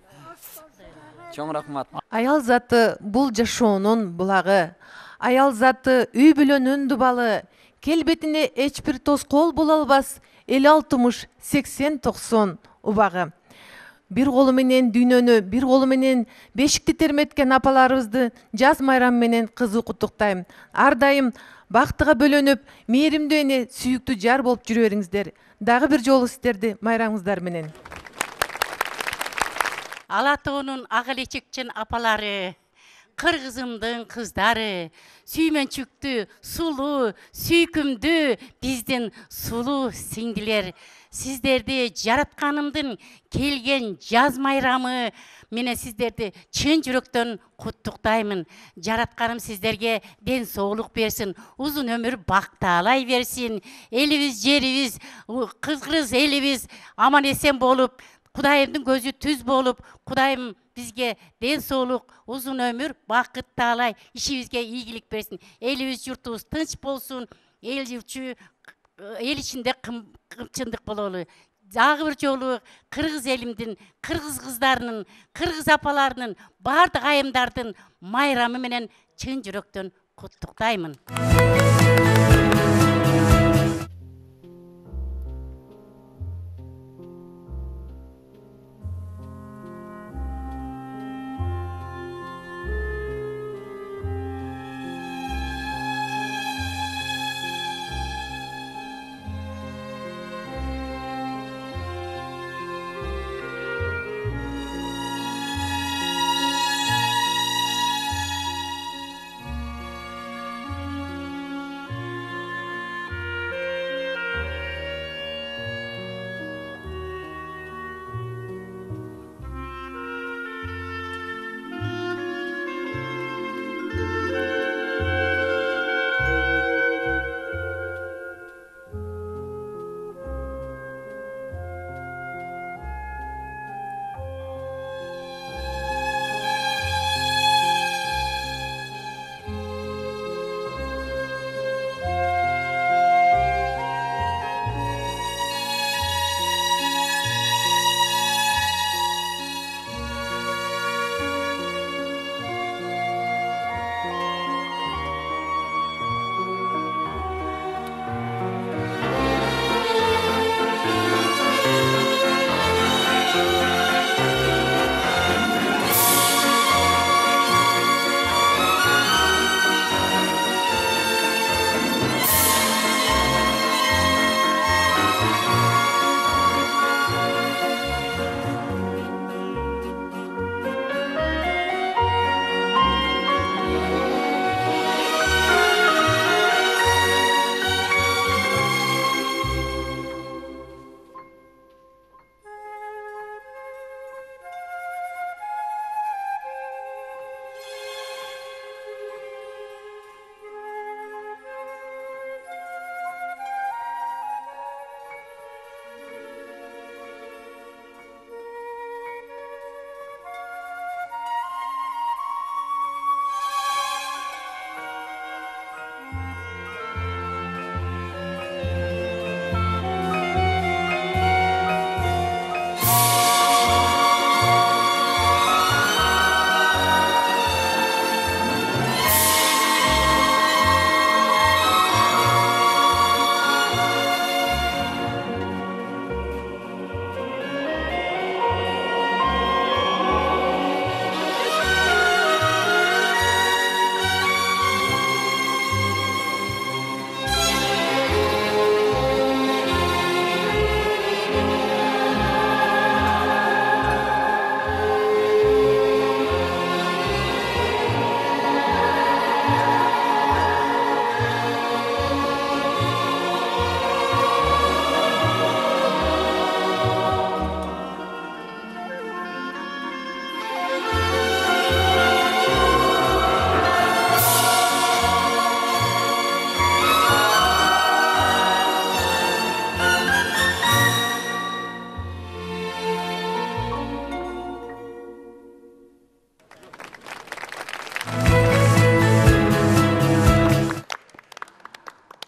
Чоң рахмат. Аял заты бул жашоонун булагы. Аял заты үй бүлөнүн дубалы. Келбетине эч бир тоскоол боло албас. 50-60-80-90 убагы. Бир колу менен дүйнөнү, бир колу менен бешикти терметкен апаларыбызды жаз майрамы менен кызуу куттуктайм. Ар дайым бактыга бөлөнүп, мээримдүү эне, сүйүктүү жар болуп жүрө бериңиздер. Дагы бир жолу сиздерди майрамыңыздар менен. Ала тоонун ак элечекчен апалары, кыргызымдын кыздары, сүймөнчүктүү, сулуу, сүйкүмдүү биздин сулуу сиңдилер. Сиздерди жаратканымдын келген жаз майрамы менен сиздерди чын жүрөктөн куттуктаймын. Жаратканым сиздерге ден соолук берсин, узун өмүр бакталай берсин. Элибиз, жерибиз, кыргыз элибиз аман эсен болуп, Кудайымдын көзү түз болуп, Кудайым бизге ден соолук, узун өмүр, бакыт таалай, ишибизге ийгилик берсин. Элибиз, журтубуз тынч болсун, эл ичинде кымчындык бололу. Дагы бир жолу кыргыз элимдин, кыргыз кыздарынын, кыргыз апаларынын, бардык айымдардын майрамы менен чын жүрөктөн куттуктаймын.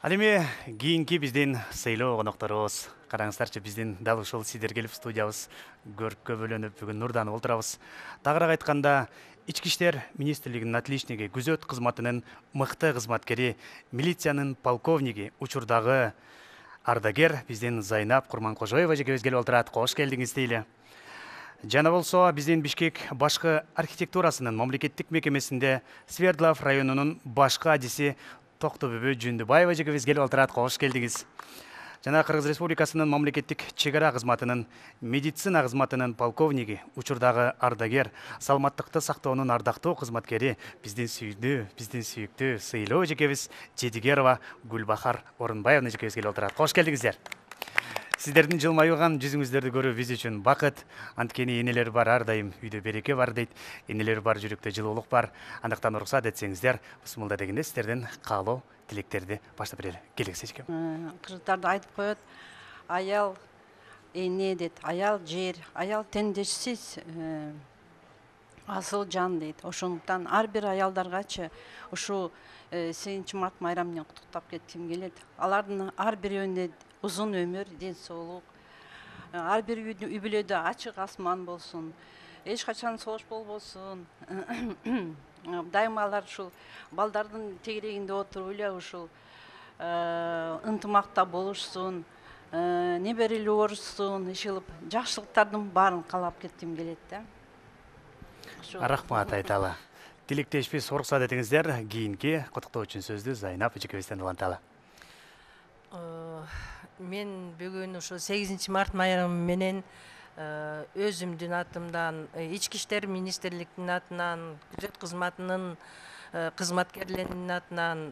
Ал эми кийинки биздин сыйлоо конокторубуз. Караңыздарчы, биздин дал ушул сиздер келип студиябыз көрккө бөлөнүп бүгүн нурданып отурабыз. Тагыраак айтканда, Ички иштер министрлигинин отличниги, күзөт кызматынын мыкты кызматкери, милициянын полковниги, учурдагы ардагер биздин Зайнап Курманкожоева жекебиз келип отурат. Кош келдиңиз дейли. Жана болсо биздин Бишкек башкы архитектурасынын мамлекеттик мекемесинде Свердлов районунун башкы адиси Токтобүбү Жүндүбаева жекебиз келип отурат. Кош келдиңиз. Жана Кыргыз Республикасынын мамлекеттик чегара кызматынын медицина кызматынын полковниги, учурдагы ардагер, саламаттыкты сактоонун ардактуу кызматкери биздин сүйүктүү сыйлоо жекебиз Жедигерова Гүлбахар Орунбаевна жекебиз келип отурат. Кош келдиңиздер. Сиздердин жылмайган жүзүңүздөрдү көрүү биз үчүн бакыт. Анткени энелер бар ар дайым үйдө береке бар дейт. Энелер бар жүрөктө жылуулук бар. Андыктан уруксат этсеңиздер, бусмулда дегенде сиздерден каалоо тилектерди баштап берели. Келиңиз эчкем. Кыргыздарды айтып коет, аял эне дейт, аял жер, аял теңдешсиз асыл жан дейт. Ошондуктан ар бир аялдаргачы ушу 8 март майрамы менен куттуктап кетким келет. Алардын ар бирөөүнө узун өмүр, ден соолук, ар бир үй бүлөдө ачык асман болсун, эч качан согуш болбосун. Дайыма алар ушул балдардын тегерегинде отуруп эле ушул ынтымакта болушсун, неберелүү орушсун, ишилип, жакшылыктардын баарын каалап кетким келет да. Рахмат айталы. Тилектешпес уруксат этиңиздер, кийинки куттуктоо үчүн сөздү Зайнап жекебизден уланталы. Мен бүгүн ушу 8 март майрамы менен өзүмдүн атымдан, Ички иштер министрлигинин атынан, күзөт кызматынын кызматкерлеринин атынан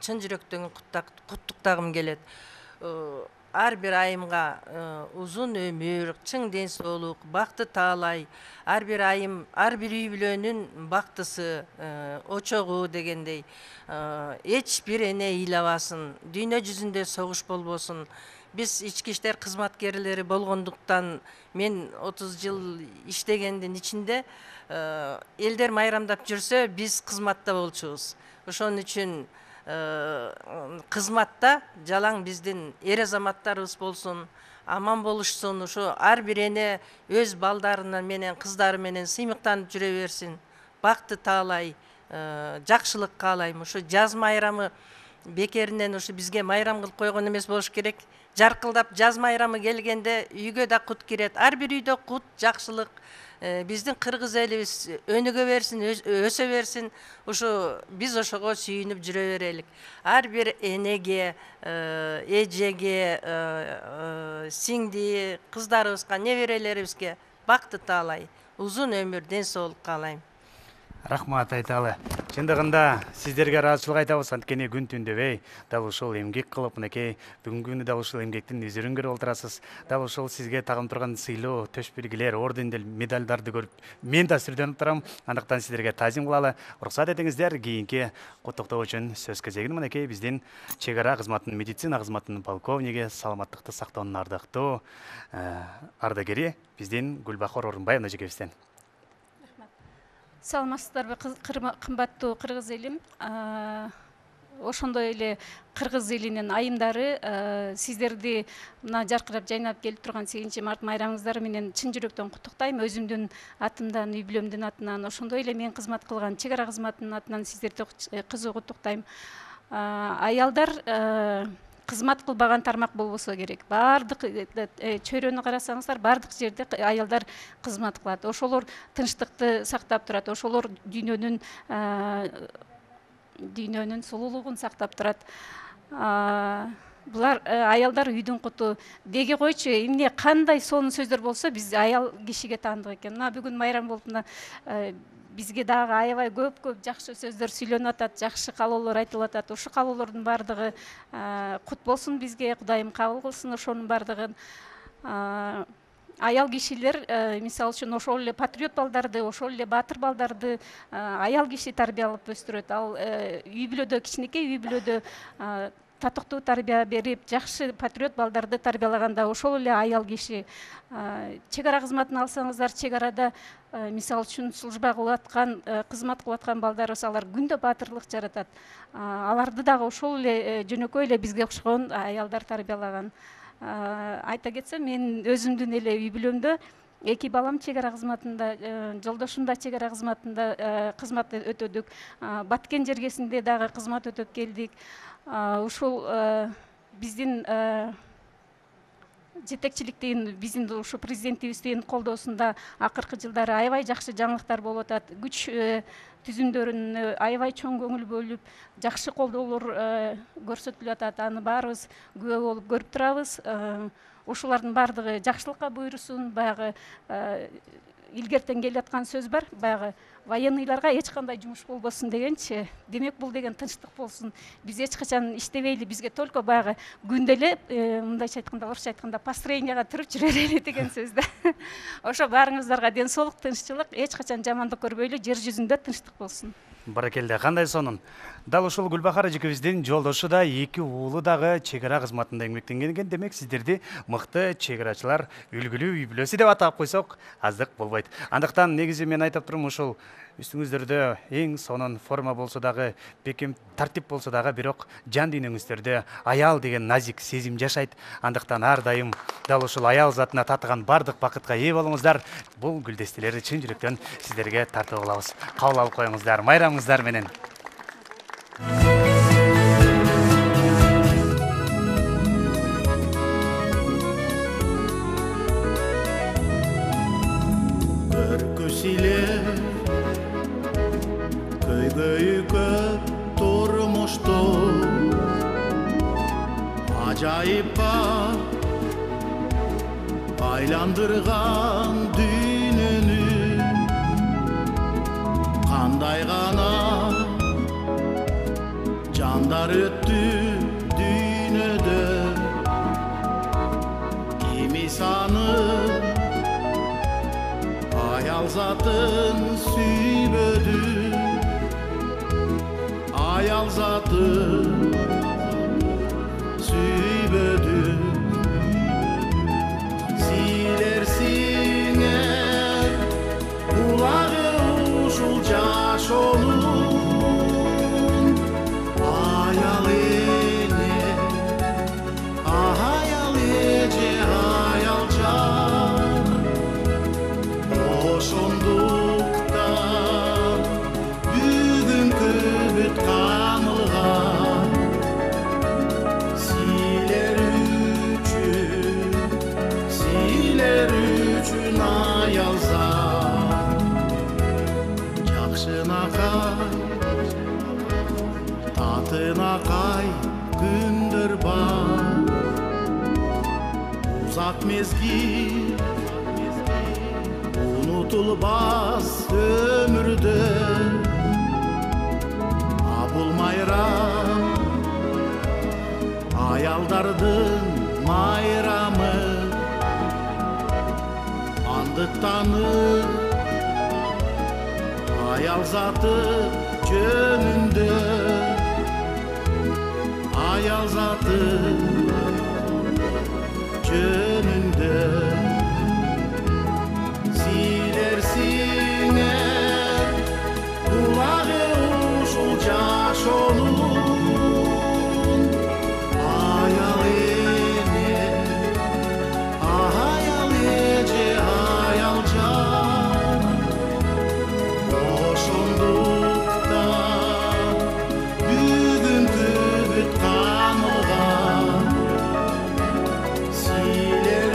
чын жүрөктөн куттуктагым келет. Ар бир айымга узун өмүр, чың ден соолук, бакты таалай, ар бир айым, ар бир үй бүлөнүн бактысы, очогу дегендей, эч бир эне ыйлабасын, дүйнө жүзүндө согуш болбосун. Биз ички иштер кызматкерлери болгондуктан мен 30 жыл иштегендин ичинде элдер майрамдап жүрсө, биз кызматта болчубуз. Ошон үчүн кызматта жалаң биздин эр азаматтарыбыз болсун, аман болушсун, ушу ар бир эне өз балдарына менен, кыздары менен сыймыктанып жүрө берсин, бакты таалай, жакшылык каалайм. Ушу жаз майрамы бекеринен ушу бизге майрам кылып койгон эмес болуш керек. Жаркылдап жаз майрамы келгенде үйгө да кут кирет. Ар бир үйдө кут, жакшылык, биздин кыргыз элибиз өнүгө берсин, өсө берсин. Ушу биз ошого сүйүнүп жүрө берелик. Ар бир энеге, эжеге, сиңди, кыздарыбызга, неберелерибизге бакты таалай, узун өмүр, ден соолук каалайм. Рахмат айталы. Чындыгында сиздерге ыраазычылык айтабыз, анткени күн түндөбөй дал ушул эмгек кылып, мынакей бүгүнкү күнү дал ушул эмгектин изүрүн көрүп отурасыз. Дал ушул сизге тагын турган сыйлоо, төш белгилер, ордендер, медалдарды көрүп мен да сүрдөнүп турам. Андыктан сиздерге таазим кылалы. Уруксат этиңиздер, кийинки куттуктоо үчүн сөз кезегин мынакей биздин чегара кызматынын, медицина кызматынын полковниги, саламаттыкты сактоонун ардактуу ардагери биздин Гүлбахар Орунбаевна жекебизден. Саламатсыздарбы, кымбаттуу кыргыз элим. Ошондой эле кыргыз элинин айымдары сиздерди мына жаркырап жайнап келип турган 8 март майрамыңыздар менен чын жүрөктөн куттуктайм. Өзүмдүн атымдан, үй бүлөмдүн атынан, ошондой эле мен кызмат кылган чегара кызматынын атынан сиздерди кызуу куттуктайм. Аялдар кызмат кылбаган тармак болбосо керек. Бардык чөйрөнү карасаңыздар, бардык жерде аялдар кызмат кылат. Ошолор тынчтыкты сактап турат. Ошолор дүйнөнүн сулуулугун сактап турат. Булар аялдар үйдүн куту. Деги койчу, эмне кандай сонун сөздөр болсо, биз аял кишиге таандык экен. Мына бүгүн майрам болуп, бизге дагы аябай көп жакшы сөздөр сүйлөнүп атат, жакшы каалоолор айтылып атат. Ошол каалоолордун баардыгы кут болсун бизге, Кудайым кабыл кылсын ошонун баардыгын. Аял кишилер, мисалы үчүн, ошол эле патриот балдарды, ошол эле баатыр балдарды аял киши тарбиялап өстүрөт. Ал үй бүлөдө, кичинекей үй бүлөдө татыктуу тарбия берип, жакшы патриот балдарды тарбиялаганда ошол эле аял киши. Чек ара кызматын алсаңыздар, чек арада мисалы үчүн служба кылып аткан, кызмат кылып аткан балдарыбыз алар күндө баатырлык жаратат. Аларды дагы ошол эле жөнөкөй эле бизге окшогон аялдар тарбиялаган. Айта кетсем, мен өзүмдүн эле үй бүлөмдө 2 балам чек ара кызматында, жолдошум да чек ара кызматында кызмат өтөдүк. Баткен жергесинде дагы кызмат өтөп келдик. Ушул биздин жетекчиликтин, биздин ушу президентибиздин колдоосунда акыркы жылдары аябай жакшы жаңылыктар болуп атат. Күч түзүмдөрүнө аябай чоң көңүл бөлүп, жакшы колдоолор көрсөтүлүп атат. Аны баарыбыз күбө болуп көрүп турабыз. Ушулардын баардыгы жакшылыкка буйрусун. Баягы илгертен келе аткан сөз бар. Баягы военныйларга эч кандай жумуш болбосун дегенчи. Демек бул деген тынчтык болсун. Биз эч качан иштебейли, бизге только баягы күндө эле мындайча айтканда, орусча айтканда построенияга туруп жүрө берели деген сөз да. Ошо баарыңыздарга ден соолук, тынччылык, эч качан жамандык көрбөйлү, жер жүзүндө тынчтык болсун. Баракелде, кандай сонун. Дал ушул Гүлбахар эжекебиздин жолдошу да, 2 уулу дагы чек ара кызматында эмгектенген экен. Демек, сиздерди мыкты чек арачылар үлгүлүү үй бүлөсү деп атап койсок, аздык болбойт. Андыктан негизи мен айтып турум, ушул үстүңүздөрдө эң сонун форма болсо дагы, бекем тартип болсо дагы, бирок жан дүйнөңүздөрдө аял деген назик сезим жашайт. Андыктан ар дайым дал ушул аял затына татыган бардык бакытка ээ болуңуздар. Бул гүлдестелерди чын жүрөктөн сиздерге тартып алабыз. Кабыл алып коюңуздар, майрамыңыздар менен. Acayippa aylandırgan dününü Kanday gana canlar öttü dünöde Kimi sanıp ayal zatın süybödü Ayal zatın süybödü Silersin kulağı uşul caş onun Ayal ene, ayal ece, ayal can Oşondukta bugünkü büt kanılgan Siler üçün ayal zat Jakşına kay, tatına kay gündür bar Uzak mezgil unutulmaz ömürde Abul mayram ayaldardın mayramı Andık tanır ayal zatı jönündө Ayal zatı jönündө Silersin kulağı uşul jaş onun Ayal ene, ayal ece, ayal can Oşondukta bugünkü büt kanılgan Siler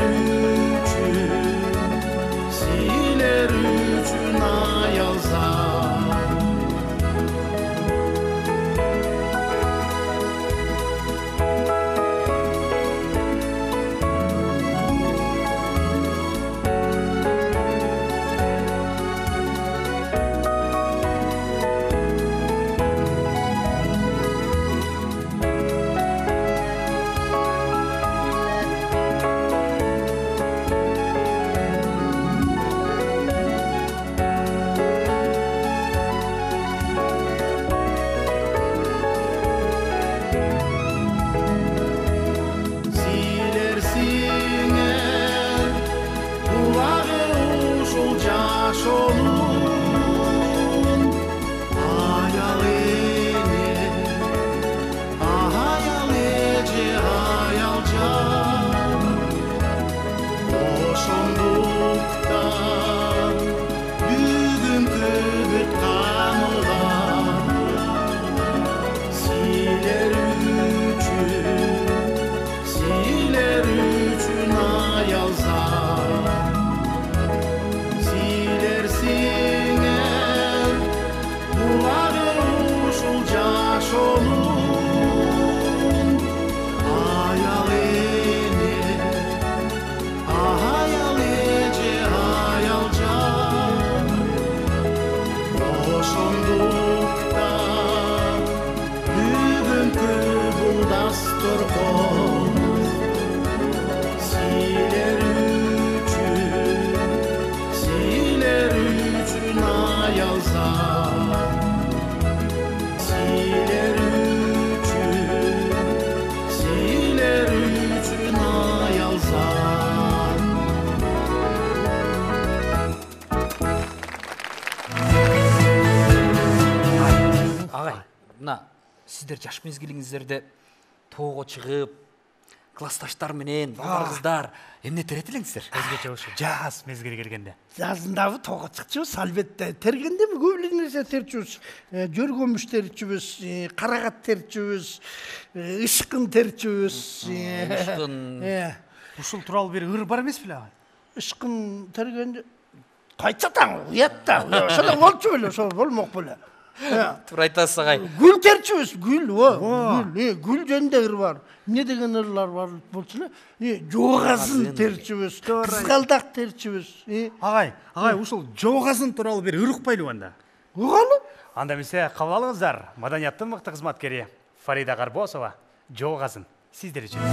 сиздер жаш мезгилиңиздерде тоого чыгып классташтар менен балдарыңыздар эмне терет элеңиздер? Өзгөчө ушу жаз мезгили келгенде. Жазындабы тоого чыкчубуз, албетте. Тергендеби көп эле нерсе терчүбүз. Жөргөмүш терчүбүз, карагат терчүбүз, ышкын терчүбүз. Ышкын. Ушул тууралуу бир ыр бар эмес беле? Ышкын тергенде кайча таң уятта. Ошондо болчу беле, ошо болмок беле. Туура айтасыз агай. Гүл терчүбүз, гүл, гүл жөнүндө ыр бар. Эмне деген ырлар бар болчу эле? Жоогазын терчүбүз, кызгалдак терчүбүз. Агай, ушул жоогазын тууралуу бир ыр укпайлыбы анда? Угалы? Анда эмесе кабыл алыңыздар. Маданияттын мыкты кызматкери Фарида Карбосова жоогазын сиздер үчүн.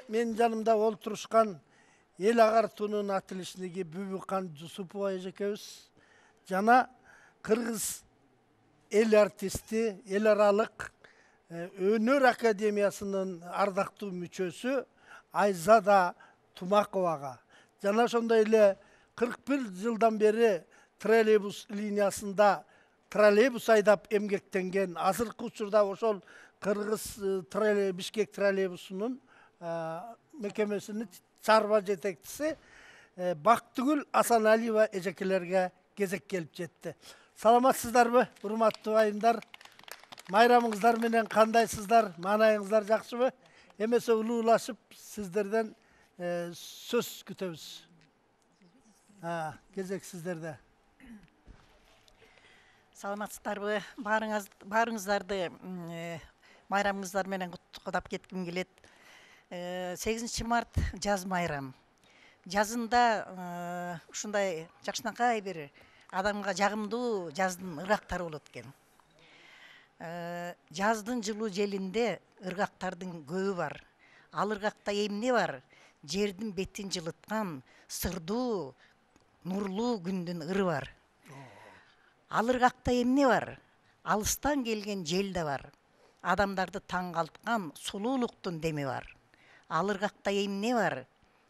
Мен жанымда олтурушкан эл агартуунун атылышындагы Бүбүкан Жусупова эжекебиз жана Кыргыз эл артисти, эл аралык өнөр академиясынын ардактуу мүчөсү Айзада Тумаковага жана ошондой эле 41 жылдан бери троллейбус линиясында троллейбус айдап эмгектенген, азыркы учурда ошол Кыргыз Бишкек троллейбусунун мекемесинин чарба жетекчиси Бактыгүл Асаналиева эжекелерге кезек келип жетти. Саламатсыздарбы, урматтуу айымдар? Майрамыңыздар менен кандайсыздар? Маанайыңыздар жакшыбы? Эмесе улуулашып сиздерден сөз күтөбүз. Кезек сиздерде. Саламатсыздарбы? Баарыңыздарды майрамыңыздар менен куттуктап кетким келет. 8 март жаз майрам. Жазында ушундай жакшынакай бир адамга жагымдуу жаздын ыргактары болот экен. Жаздын жылуу желинде ыргактардын көбү бар. Ал ыргакта эмне бар? Жердин бетин жылыткан сырдуу, нурлуу күндүн ыры бар. Ал ыргакта эмне бар? Алыстан келген жел да бар. Адамдарды таң калткан сулуулуктун деми бар. Ал ыргакта эмне бар?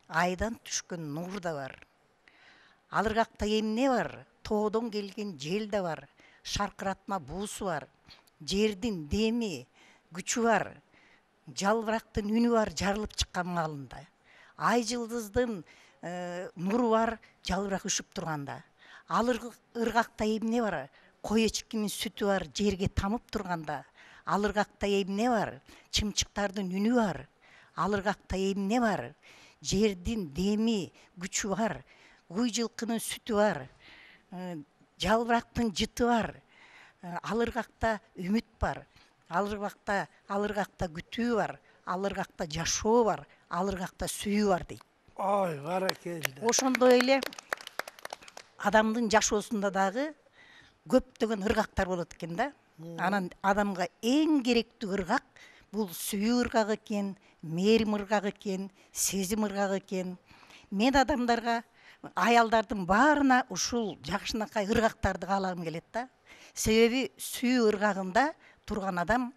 Айдан түшкөн нур да бар. Ал ыргакта эмне бар? Тоодон келген жел да бар. Шаркыратма буусу бар. Жердин деми, күчү бар. Жалбырактын үнү бар жарылып чыккан маалында. Ай жылдыздын нуру бар жалбырак үшүп турганда. Ал ыргакта эмне бар? Кой эчкинин сүтү бар жерге тамып турганда. Ал ыргакта эмне бар? Чымчыктардын үнү бар. Ал ыргакта эмне бар? Жердин деми, күчү бар. Уй жылкынын сүтү бар. Жалбырактын жыты бар. Ал ыргакта үмүт бар. Ал ыргакта күтүү бар. Ал ыргакта жашоо бар. Ал ыргакта сүйүү бар дейт. Ой, баракелде. Ошондой эле адамдын жашоосунда дагы көптөгөн ыргактар болот экен да. Анан адамга эң керектүү ыргак бул сүйүү ыргагы экен, мээрим ыргагы экен, сезим ыргагы экен. Мен адамдарга, аялдардын баарына ушул жакшынакай ыргактарды каалагым келет да. Себеби сүйүү ыргагында турган адам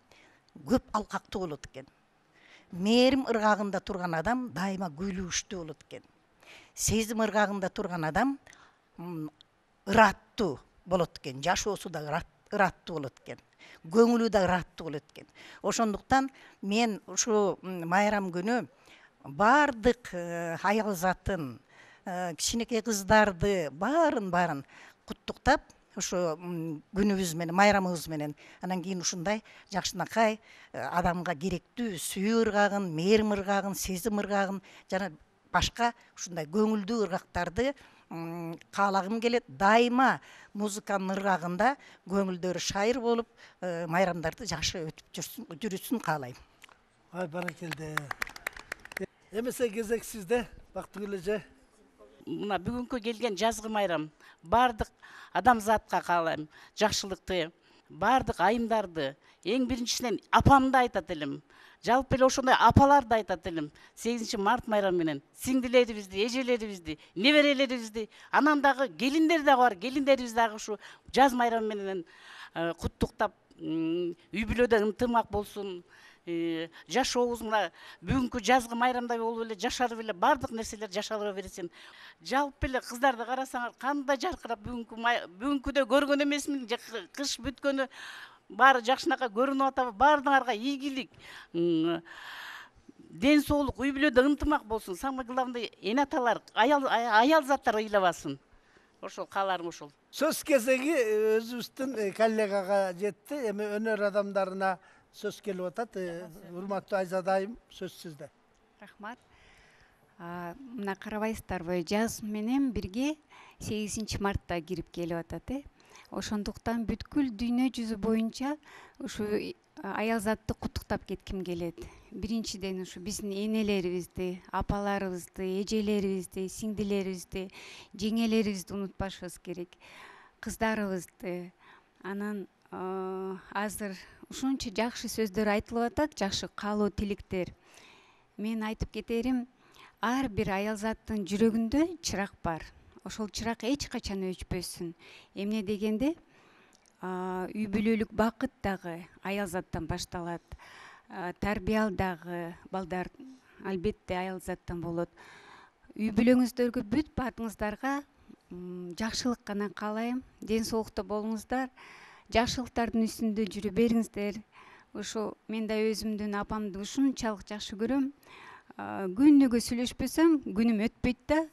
көп алкактуу болот экен. Мээрим ыргагында турган адам дайыма күйлүгүчтүү болот экен. Сезим ыргагында турган адам ыраттуу болот экен. Жашоосу да ыраттуу болот экен. Көңүлү да ыраттуу болот экен. Ошондуктан мен ушу майрам күнү бардык аял затын, кичинекей кыздарды баарын куттуктап, ошо күнүбүз менен, майрамыбыз менен, анан кийин ушундай жакшынакай адамга керектүү сүйүү ыргагын, мээрим ыргагын, сезим ыргагын жана башка ушундай көңүлдүү ыргактарды каалагым келет. Дайыма музыканын ыргагында көңүлдөрү шайыр болуп, майрамдарды жакшы өтүп жүрүшүн каалайм. Ай, баракелде. Эмесе кезек сизде, Бактыгүл эже. Мына бүгүнкү келген жазгы майрам бардык адамзатка каалайм жакшылыкты, бардык айымдарды, эң биринчисинен апамды айтат элем. Жалпы эле ошондой апаларды айтат элем. 8 март майрамы менен сиңдилерибизди, эжелерибизди, неберелерибизди, анан дагы келиндер дагы бар. Келиндерибиз дагы ушу жаз майрамы менен куттуктап, үй бүлөдө ынтымак болсун. Жашообуз мына бүгүнкү жазгы майрамдай болуп эле жашарып эле бардык нерселер жашала берсин. Жалпы эле кыздарды карасаңар кандай жаркырап бүгүнкүдө көргөн эмесмин, кыш бүткөнү баары жакшынакай көрүнүп атабы, баардыгыңарга ийгилик, ден соолук, үй бүлөдө ынтымак болсун. Самое главное, эне аталар, аял заттар ыйлабасын. Ошол кааларым ошол. Сөз кезеги өзүбүздүн коллегага жетти. Эми өнөр адамдарына сөз келип атат. Урматтуу Айзада айым, сөз сизде. Рахмат. Мына карабайсыздарбы, жаз менен бирге 8 мартта кирип келип атат. Ошондуктан бүткүл дүйнө жүзү боюнча ушу аял затты куттуктап кетким келет. Биринчиден ушу биздин энелерибизди, апаларыбызды, эжелерибизди, сиңдилерибизди, жеңелерибизди унутпашыбыз керек. Кыздарыбызды. Анан азыр ушунча жакшы сөздөр айтылып атат, жакшы каалоо тилектер. Мен айтып кетерим, ар бир аял заттын жүрөгүндө чырак бар. Ошол чырак эч качан өчпөсүн. Эмне дегенде, үй бүлөлүк бакыт дагы аял заттан башталат. Тарбиял дагы балдар албетте аял заттан болот. Үй бүлөңүздөргө бүт баардыгыңыздарга жакшылык гана каалайм. Ден соолукта болуңуздар, жакшылыктардын үстүндө жүрө бериңиздер. Ошо мен да өзүмдүн апамды ушунчалык жакшы көрөм. Күнүгө сүйлөшпөсөм күнүм өтпөйт да.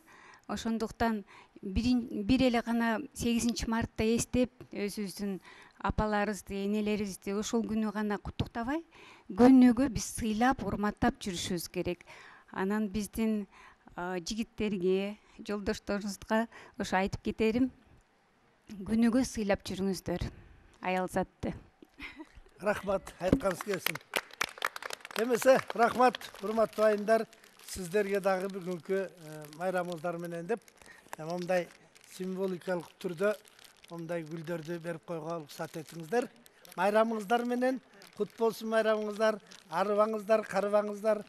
Ошондуктан бир эле гана 8 мартта эстеп, өзүбүздүн апаларыбызды, энелерибизди ошол күнү гана куттуктабай, күнүгө биз сыйлап, урматтап жүрүшүбүз керек. Анан биздин жигиттерге, жолдошторубузга ошо айтып кетерим, күнүгө сыйлап жүрүңүздөр аял затты. Рахмат, айтканыңыз келсин. Эмесе, рахмат, урматтуу айымдар, сиздерге дагы бүгүнкү майрамыңыздар менен деп, мындай символикалык түрдө мындай гүлдөрдү берип койгонго уруксат этиңиздер. Майрамыңыздар менен кут болсун майрамыңыздар, арыбаңыздар, карыбаңыздар.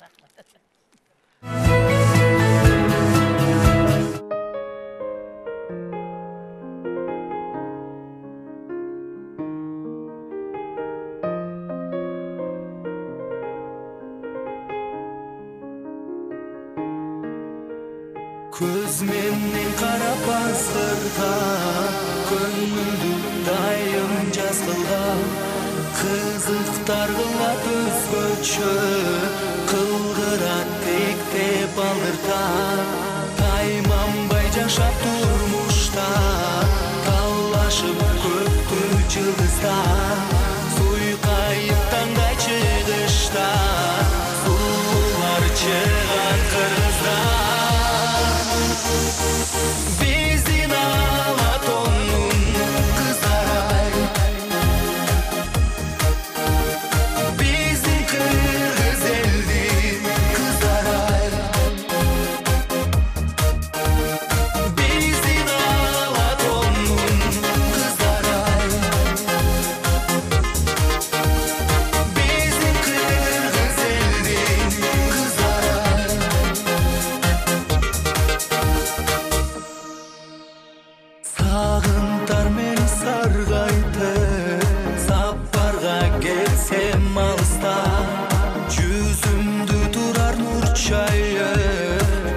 Көз менен карап азырда, көңүлдү дайым жаз кылган, кызыктар кылат өзгөчө, кылгырат текте балырда, тайманбай жашап турмушта, талашып көктү жылдызда, суйкайып таңдай чыгышта, суулар чыгат кыргызда. Биздин Алатондун кыздары, биздин кыргыз элдин кыздары, биздин Алатондун кыздары, биздин кыргыз элдин кыздары. Сагынтар мен саргайды, сапарга келсем алыста, жүзүмдү турар нур чайы,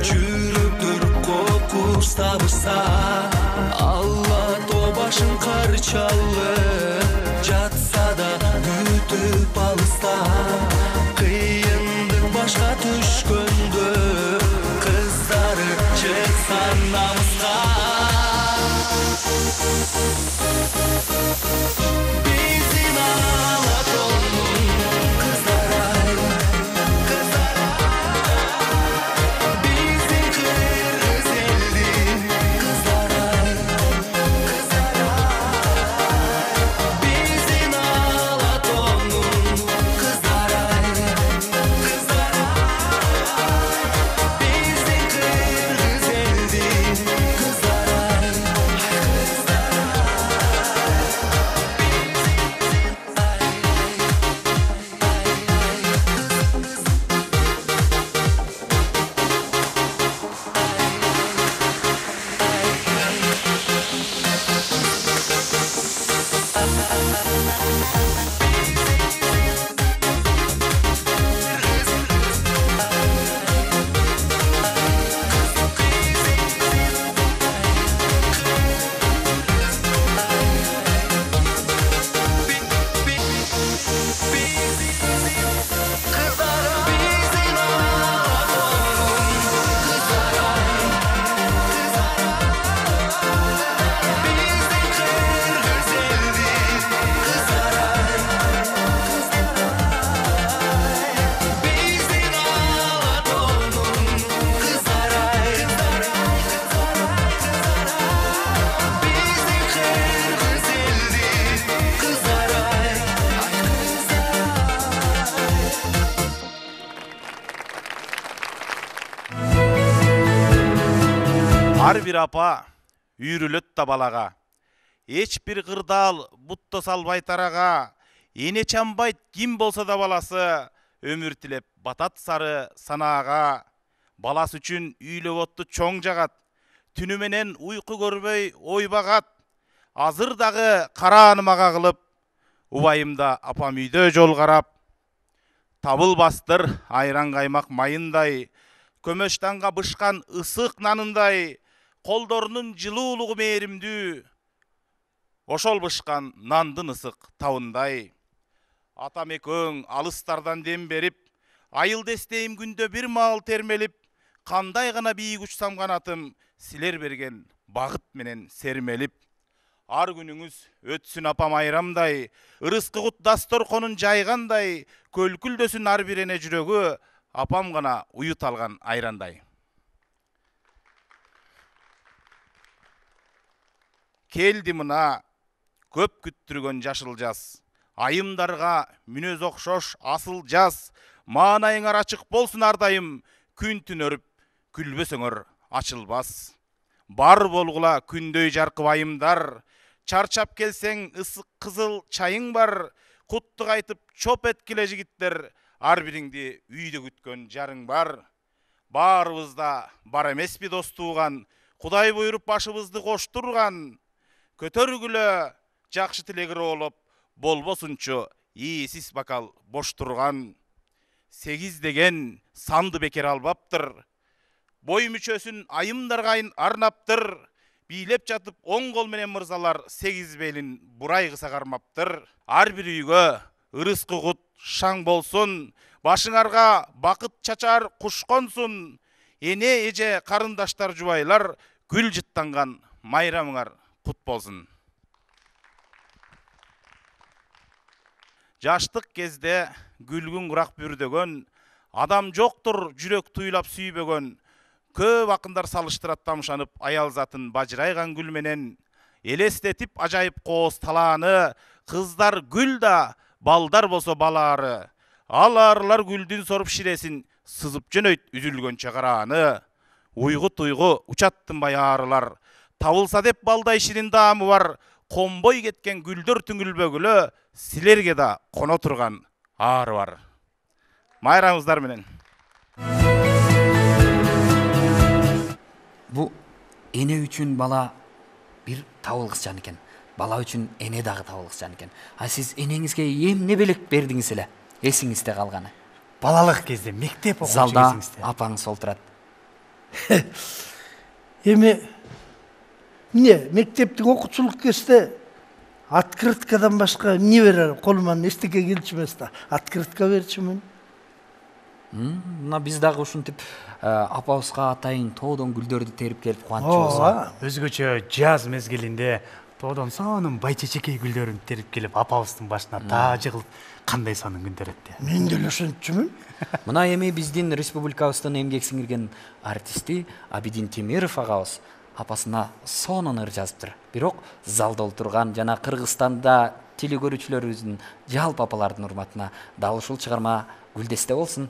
жүрөктөр кокуш сабырса, Алатоо башын кар чалып, жатса да күтүп алыста, кыйындык башка түшкөндө, кыздары чыкса намыска. Биздин Алатондун кыздары, биздин кыргыз элдин кыздары, биздин Алатондун кыздары, биздин кыргыз элдин кыздары. Ар бир апа үйрүлөт да балага, эч бир кырдаал бутта салбай тарага, эне чамбайт ким болсо да баласы, өмүр тилеп батат сары санаага, баласы үчүн үйлөп отту чоң жагат, түнү менен уйку көрбөй ойбагат, азыр дагы карааным ага кылып, убайымда апам үйдө жол карап, табылбастыр айран каймак майындай, көмөштанга бышкан ысык нанындай, колдорунун жылуулугу мээримдүү, ошол бышкан нандын ысык табындай. Атам экөөң алыстардан дем берип, айыл дестейим күндө бир маал термелип, кандай гана бийик учсам канатым, силер берген багыт менен сермелип. Ар күнүңүз өтсүн апам айрамдай, ырыскы кут дасторконун жайгандай, көлкүлдөсүн ар бир эне жүрөгү, апам гана уют алган айрандай. Келди мына көп күттүргөн жашыл жаз, айымдарга мүнөз окшош асыл жаз, маанайыңар ачык болсун ардайым, күн түн өрүп күлбөсөңөр ачылбас. Бар болгула күндөй жаркып айымдар, чарчап келсең ысык кызыл чайың бар, куттук айтып чоп эткиле жигиттер, ар бириңди үйдө күткөн жарың бар. Баарыбызда бар эмеспи дос тууган, Кудай буйруп башыбызды коштурган, көтөргүлө жакшы тилегир болуп, болбосунчу ийсиз бокал бош турган. 8 деген санды бекер албаптыр, бой мүчөсүн айымдарга арнаптыр, бийлеп жатып оң кол менен мырзалар 8 белин бурай кыса кармаптыр. Ар бир үйгө ырыскы кут шаң болсун, башыңарга бакыт чачар куш консун, эне эже карындаштар жубайлар, гүл жыттанган майрамыңар кут болсун. Жаштык кезде гүлгүн курак бүрдөгөн, адам жоктур жүрөк туйлап сүйбөгөн, көп акындар салыштырат тамшанып аял затын бажырайган гүл менен, элестетип ажайып кооз талааны, кыздар гүл да, балдар болсо балаары, аларлар гүлдүн соруп ширесин, сызып жөнөйт үзүлгөнчө карааны. Уйгу туйгу учаттынбай аарылар, табылса деп балдай ширин даамы бар, комбой кеткен гүлдөр түңүлбөгүлө, силерге да коно турган ары бар. Майрамыңыздар менен. Бу эне үчүн бала бир табылгыс жан экен. Бала үчүн эне дагы табылгыс жан экен. А сиз энеңизге эмне белек бердиңиз эле? Эсиңизде калганы. Балалык кезде мектеп окуучу Залда кезиңизде. апаңыз олтурат. Эми эмне мектептик окуучулук кезде открыткадан башка эмне берер? Колуман эчтеке келчү эмес да. Открытка берчүмүн. Мына биз дагы ушинтип апабызга атайын тоодон гүлдөрдү терип келип кубанычыбыз. Өзгөчө жаз мезгилинде тоодон сонун байчечекей гүлдөрүн терип келип апабыздын башына таа жыгылып, кандай сонун күндөр өттү. Мен деле ошентчүмүн. Мына эми биздин республикабыздын эмгек сиңирген артисти Абидин Темиров агабыз апасына сонун ыр жазыптыр. Бирок залда олтурган жана Кыргызстанда теле көрүүчүлөрүбүздүн жалпы апалардын урматына дал ушул чыгарма гүлдесте болсун.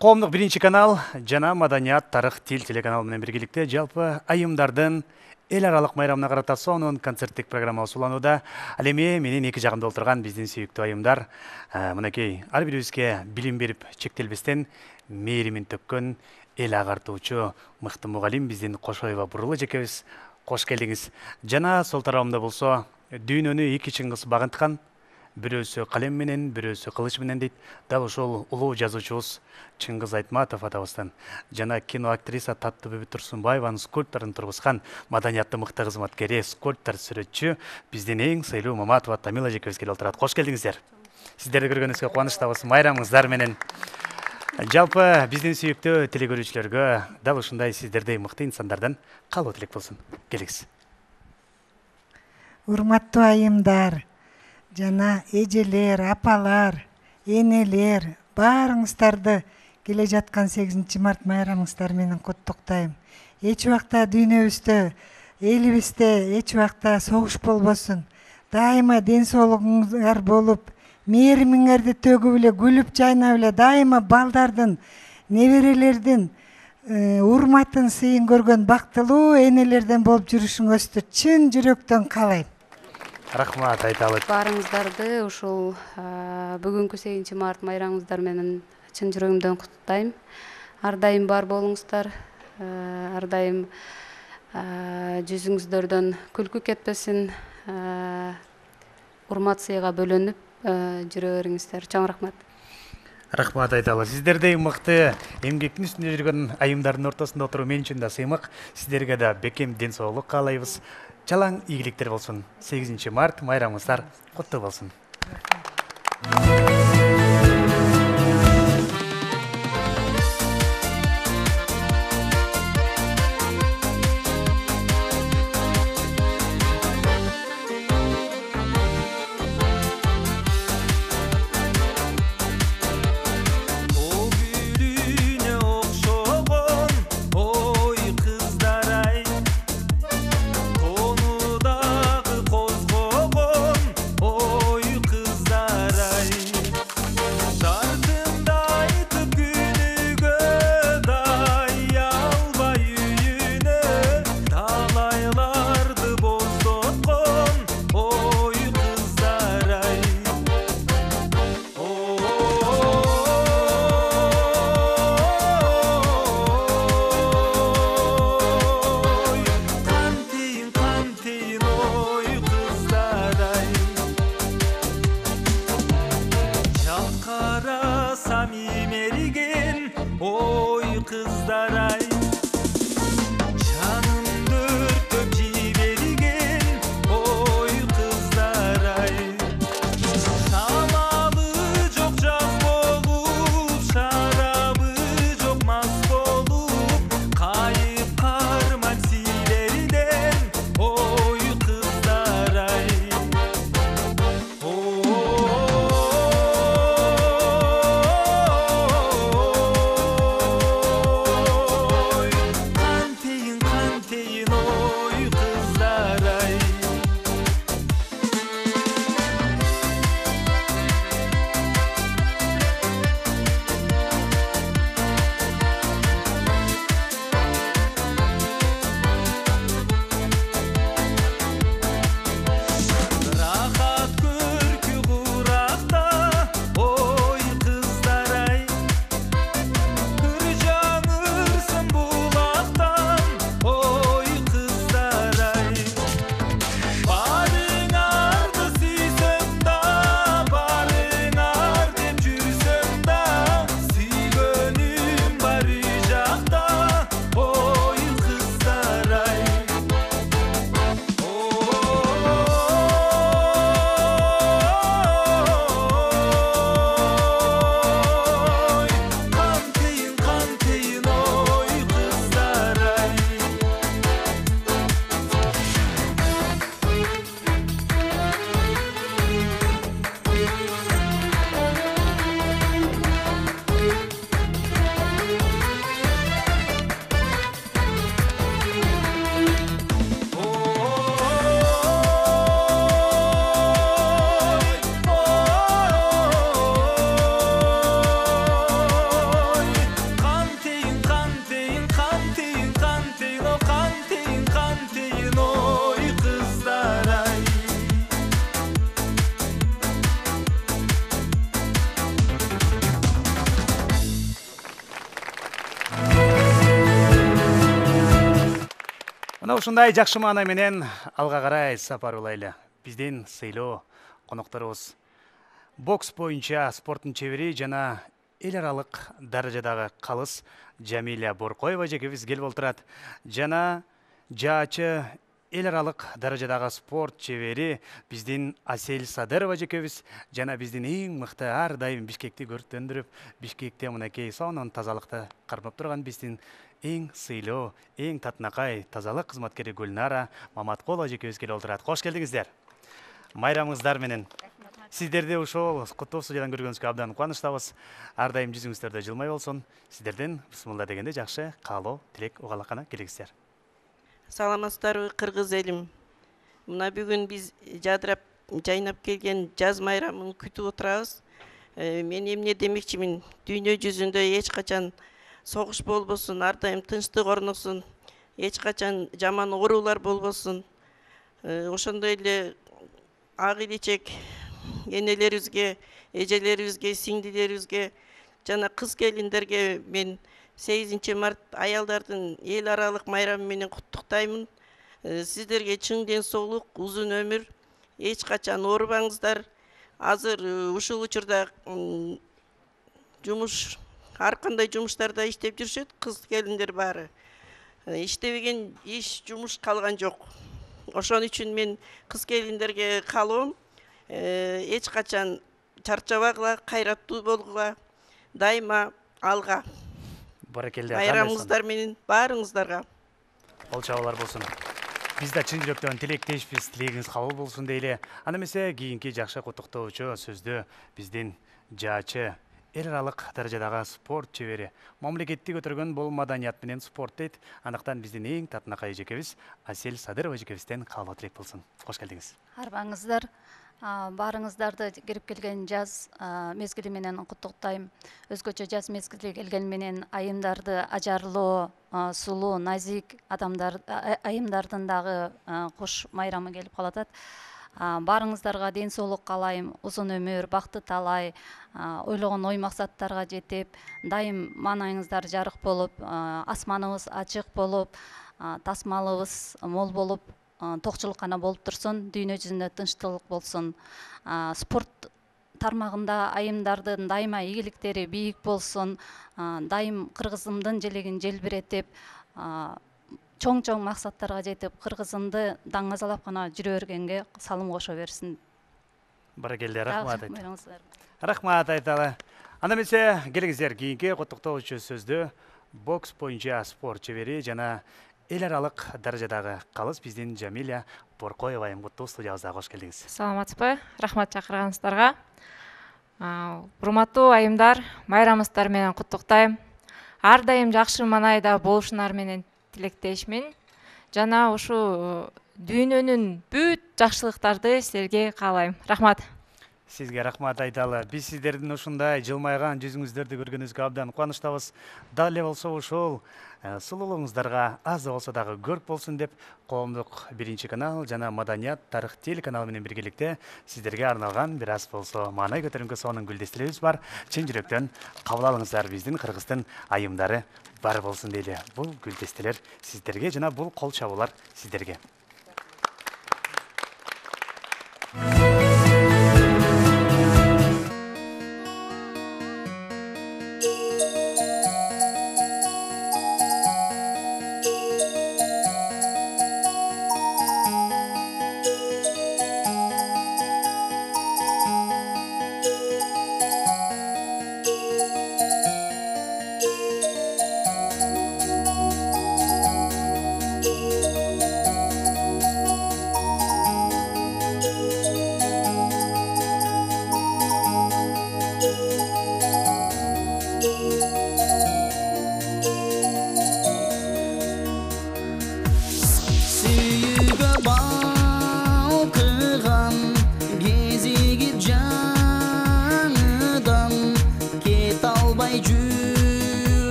Коомдук 1-канал жана Маданият, тарых, тил телеканалы менен биргеликте жалпы айымдардын эл аралык майрамына карата сонун концерттик программа уланууда. Ал эми менин эки жагымда олтурган биздин сүйүктүү айымдар мынакей ар бирибизге билим берип чектелбестен мээримин төккөн эл агартуучу мыкты мугалим биздин Кошоева Бурул эжекебиз. Кош келдиңиз. Жана сол тарабымда болсо дүйнөнү эки чыңгыз багынткан, бирөөсү калем менен, бирөөсү кылыч менен дейт. Дал ошол улуу жазуучубуз Чыңгыз Айтматов атабыздан жана кино актриса Таттыбүбү Турсунбаеванын скульпторун тургузган маданиятты мыкты кызматкери, скульптор, сүрөтчү биздин эң сыйлуу Маматова Тамила эжекебиз келип отурат. Кош келдиңиздер. Сиздерди көргөнүбүзгө кубанычтабыз. Майрамыңыздар менен. Жалпы биздин сүйүктүү теле көрүүчүлөргө дал ушундай сиздердей мыкты инсандардан каалоо тилек болсун. Келиңиз. Урматтуу айымдар, жана эжелер, апалар, энелер, баарыңыздарды келе жаткан 8 март майрамыңыздар менен куттуктайм. Эч убакта дүйнөбүздө, элибизде эч убакта согуш болбосун. Дайыма ден соолугуңар болуп, мээримиңерди төгүп эле, күлүп жайнап эле, дайыма балдардын, неберелердин урматын, сыйын көргөн бактылуу энелерден болуп жүрүшүңүздү чын жүрөктөн каалайм. Рахмат айталы. Баарыңыздарды ушул бүгүнкү 8 март майрамыңыздар менен чын жүрөгүмдөн куттуктайм. Ар дайым бар болуңуздар, ар дайым жүзүңүздөрдөн күлкү кетпесин, урмат сыйга бөлөнүп жүрө бериңиздер. Чоң рахмат. Рахмат айталы. Сиздердей мыкты эмгектин үстүндө жүргөн айымдардын ортосунда отуруу мен үчүн да сыймык. Сиздерге да бекем ден соолук каалайбыз. Чалаң ийгиликтер болсун. 8 март майрамыңыздар куттуу болсун. Ушундай жакшы маана менен алга карай сапар улайлы. Биздин сыйлуу конокторубуз бокс боюнча спорттун чебери жана эл аралык даражадагы калыс Жамиля Боркоева жекебиз келип отурат. Жана жаачы эл аралык даражадагы спорт чебери биздин Асель Садырова жекебиз жана биздин эң мыкты ар дайым Бишкекти көрктөндүрүп, Бишкекте мынакей сонун тазалыкты кармап турган биздин эң сыйлуу, эң татынакай тазалык кызматкери Гүлнара Маматкулова жекебиз келип отурат. Кош келдиңиздер. Майрамыңыздар менен. Сиздерди ушул куттуу студиядан көргөнүзгө абдан кубанычтабыз. Ар дайым жүзүңүздөрдө жылмай болсун. Сиздерден бисмилла дегенде жакшы каалоо, тилек угалакана келиңиздер. Саламатсыздарбы кыргыз элим. Мына бүгүн биз жадырап жайнап келген жаз майрамын күтүп отурабыз. Мен эмне демекчимин? Дүйнө жүзүндө эч качан согуш болбосун, ар дайым тынчтык орноксун, эч качан жаман оорулар болбосун. Ошондой эле ак илечек энелерибизге, эжелерибизге, сиңдилерибизге жана кыз келиндерге мен 8 март аялдардын эл аралык майрамы менен куттуктаймын. Сиздерге чың ден соолук, узун өмүр, эч качан оорубаңыздар. Азыр ушул учурда жумуш ар кандай жумуштарда иштеп жүрүшөт, кыз келиндер баары. Иштебеген иш, жумуш калган жок. Ошон үчүн мен кыз келиндерге каалоом эч качан чарчабагыла, кайраттуу болгула, дайыма алга. Баракелде. Майрамыңыздар менен баарыңыздарга Кол чабуулар болсун. Биз да чын жүрөктөн тилектешпиз, тилегиңиз кабыл болсун дейли. Анда эмесе кийинки жакшы куттуктоочу сөздү биздин жаачы эл аралык даражадагы спорт чебери, мамлекетти көтөргөн бул маданият менен спорт дейт. Андыктан биздин эң татынакай эжекебиз Асель Садырова эжекебизден каалоо тилек болсун. Кош келдиңиз. Арбаңыздар, баарыңыздарды кирип келген жаз мезгили менен куттуктайм. Өзгөчө жаз мезгили келген менен айымдарды ажарлуу, сулуу, назик айымдардын дагы кош майрамы келип калатат. Баарыңыздарга ден соолук каалайм, узун өмүр, бакты талай, ойлогон ой максаттарга жетип, дайым маанайыңыздар жарык болуп, асманыбыз ачык болуп, тасмалыбыз мол болуп, токчулук гана болуп турсун, дүйнө жүзүндө тынчтык болсун. Спорт тармагында айымдардын дайыма ийгиликтери бийик болсун, дайым кыргызымдын желегин желбиретип, чоң максаттарга жетип, кыргызымды даңазалап гана жүрө бергенге салым кошо берсин. Баракелде, рахмат. Рахмат айталы. Анда эмесе келиңиздер кийинки куттуктоочу сөздү бокс боюнча спорт чебери жана эл аралык даражадагы калыс биздин Жамиля Боркоева айымгуттуу студиябызга кош келдиңиз. Саламатсызбы? Рахмат чакырганыңыздарга. Урматтуу айымдар, майрамыңыздар менен куттуктайм. Ар дайым жакшы маанайда болушуңар менен тилектешмин. Жана ушу дүйнөнүн бүт жакшылыктарды силерге каалайм. Рахмат. Сизге рахмат айталы. Биз сиздердин ушундай жылмайган жүзүңүздөрдү көргөнүбүзгө абдан кубанычтабыз. Дал эле болсо ушул сулуулугуңуздарга аз да болсо дагы көрк болсун деп коомдук биринчи канал жана Маданият тарых телеканалы менен биргеликте сиздерге арналган бир аз болсо маанай көтөрүнгө сонун гүлдестелебиз бар. Чын жүрөктөн кабыл алыңыздар, биздин кыргыздын айымдары бар болсун дейли. Бул гүлдестелер сиздерге жана бул кол чабуулар сиздерге.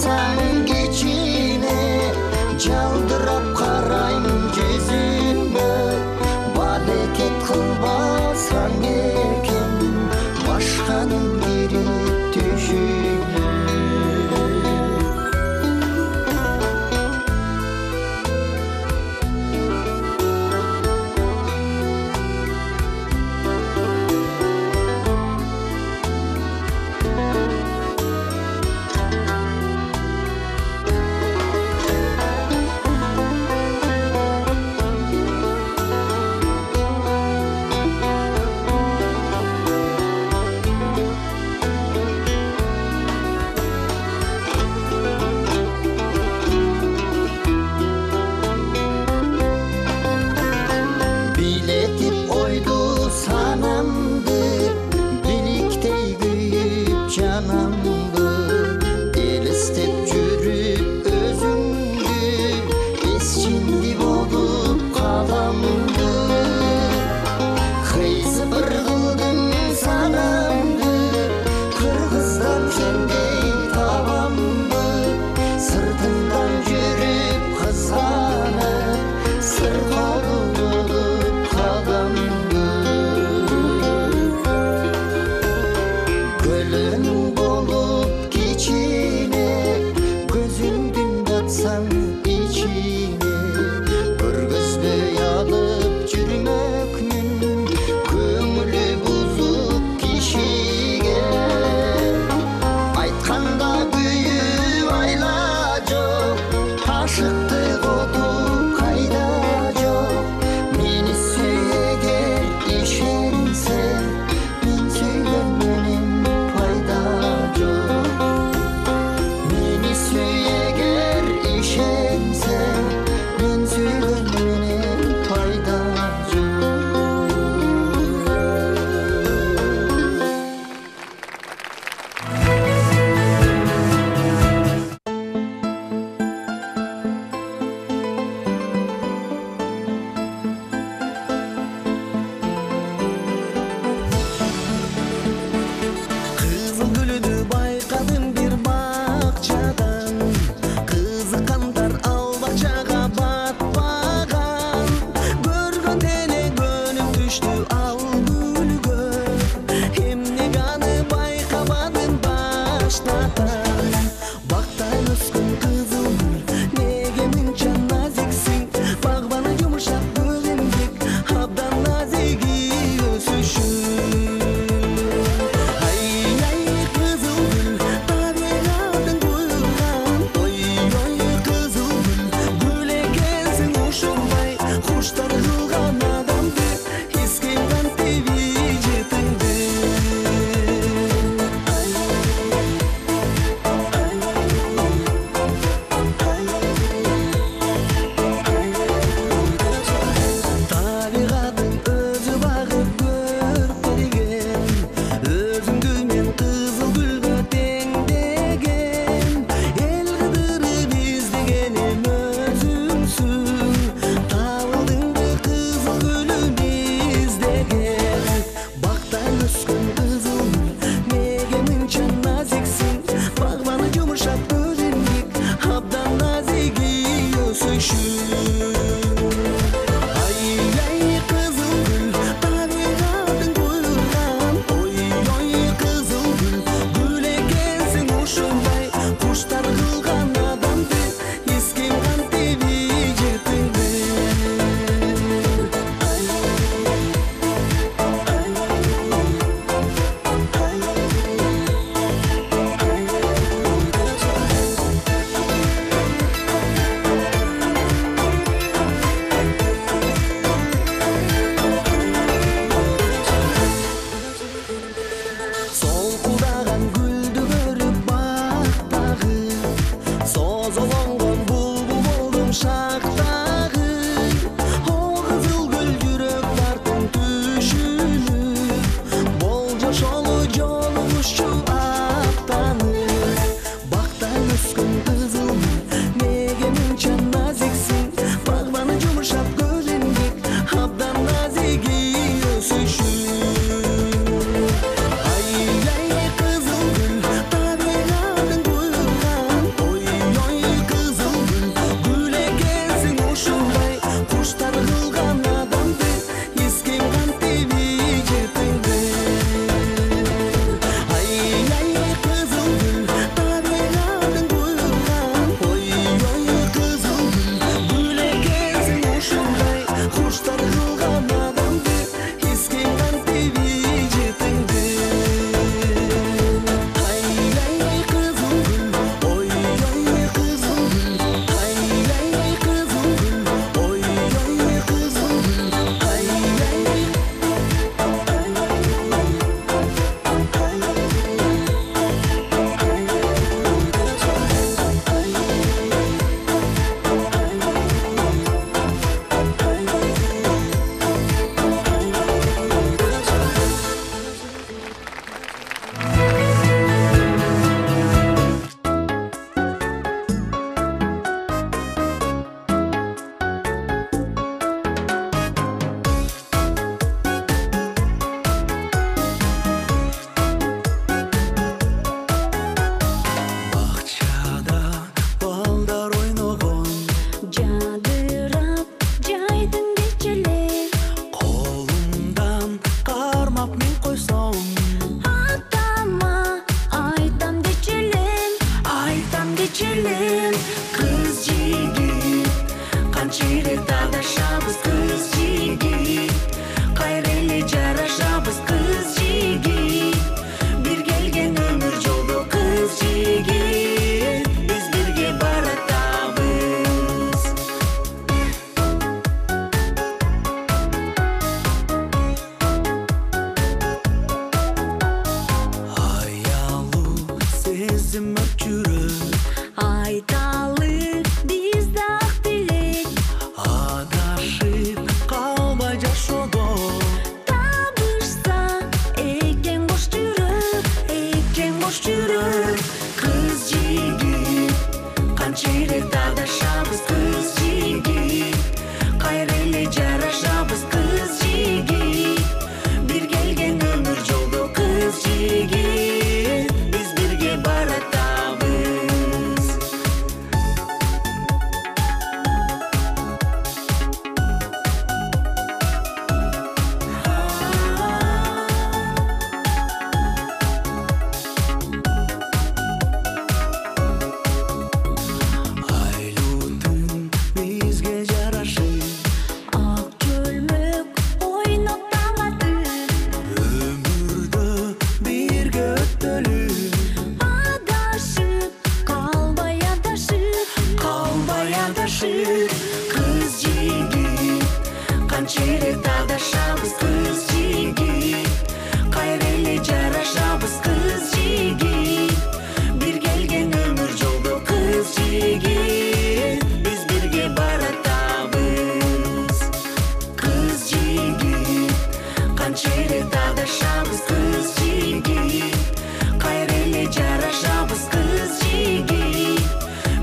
алсаң кичине жалдырап карайм жүзүңө балекет кылбасаң экен башканын кирип түшүңө билетип ойду санамды бириктей күйүп жанамды элестеп жүрүп өзүңдү эсчинди болуп каламды кыйсыбыр кылдың санамды кыргыздан сендей табамды сыртыңдан жүрүп кызганып сыр колу болуп каламды көлөң болуп кичине көзүңдүн батсаң ичине көргөзбөй алып жүрмөкмүн көңүлү бузуп кишиге айтканда күйүп айла жок ашыктык оту кайда жок мени сүйегер ишенсең мен сүйгөнүнүн пайда жок мени сүйегер ишенсең мен сүйгөнүнүн пайда жок Кызыл гүлүнү байкадым бир бакчадан кызыккандар ал бакчага батпаган көргөндө эле көнүп түштү ал гүлгө эмнеге аны байкабадым баштатан бактай өскөн кызыл гүл неге мынча назиксиң багбаны жумшак көлүмдүк абдан назиги өсүшүң ай кызыл гүл табиғаттың буйруган ой кызыл гүл гүл экенсиң ушундай куштар кылган адамды эскем кантип ижетиңди табиғаттың өзү багып көркөйгөн өзүңдү мен кызыл гүлгө теңдеген эл кыдырып издегеним өзүңсүң табылдыңбы кызыл гүлүм издеген бактай өскөн кызыл гүл неге мынча назиксиң багбаны жумшак көлүмдүк абдан назиги өсүшүң ай кызыл гүл табиғаттың буйруган ой кызыл гүл гүл экенсиң ушундай куштар кылган адамды эскем кантип ижетиңди солкулдаган гүлдү көрүп бактагы созолонгон булбул болдум шактагы о кызыл гүл жүрөк тартым түшүнүп болжошолу жолугушчу аттанып бактай өскөн кызыл гүл неге мынча назиксиң багбаны жумшак көлүмдүк абдан назиги өсүшүң ай кызыл гүл табиғаттың буйруган ой Канчелик тагдашабыз кыз жигит, кайра эле жарашабыз кыз жигит. Бир келген өмүр жолдо кыз жигит, биз бирге баратабыз кыз жигит. Канчелик тагдашабыз кыз жигит, кайра эле жарашабыз кыз жигит.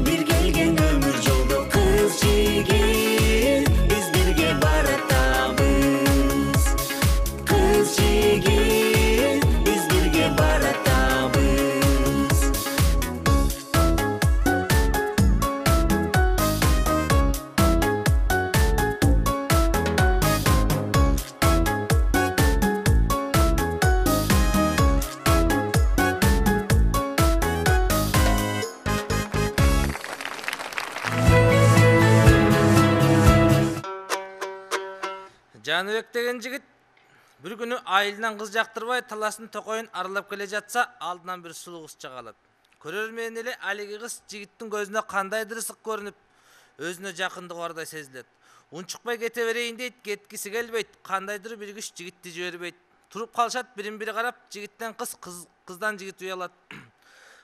Бир келген өмүр жолдо кыз жигит, биз бирге баратабыз кыз жигит, биз бирге баратабыз. Жаныбек деген жигит bir күнү айылынан кыз жактырбай таласын токойун аралап келе жатса, алдынан bir сулуу кыз чыга калат. Көрөрмөн эле алиги кыз жигиттин көзүнө кандайдыр ысык көрүнүп, өзүнө жакындыгы бардай сезилет. Унчукпай кете берейин дейт, кеткиси келбейт. Кандайдыр bir күч жигитти жибербейт. Туруп калышат, бирин-бири карап, жигиттен кыз, кыздан жигит уялат.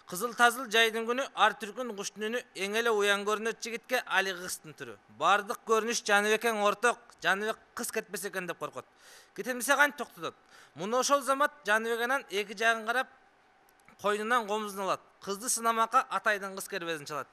Кызыл тазыл жайдын күнү ар түркүн куштун үнү эң эле уян көрүнөт жигитке алиги кыздын түрү. Бардык көрүнүш Жаныбекең орток, Жаныбек кыз кетпесе экен деп коркот. Кетемесе кантип токтотот? Муну ошол замат Жаныбек анан эки жагын карап, койнунан комузун алат. Кызды сынамакка атайдын кыз кербезин чалат.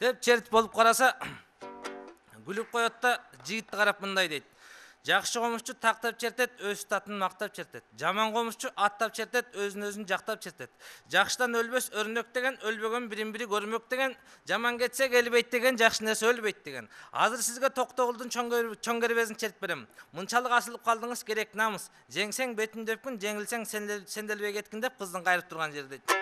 деп чертип болуп караса, күлүп коет да жигитти карап мындай дейт. Жакшы комушчу тактап чертет, өз татын мактап чертет. Жаман комушчу аттап чертет, өзүн жактап чертет. Жакшыдан өлбөс өрнөк деген, өлбөгөн бирин-бири көрмөк деген, жаман кетсе келбейт деген, жакшы нерсе өлбөйт деген. Азыр сизге Токтогулдун чоң кербезин чертип берем. Мынчалык асылып калдыңыз, керек намыс. Жеңсең бетин дөпкүн, жеңилсең сенделбей кеткин деп кыздын кайрып турган жери дейт.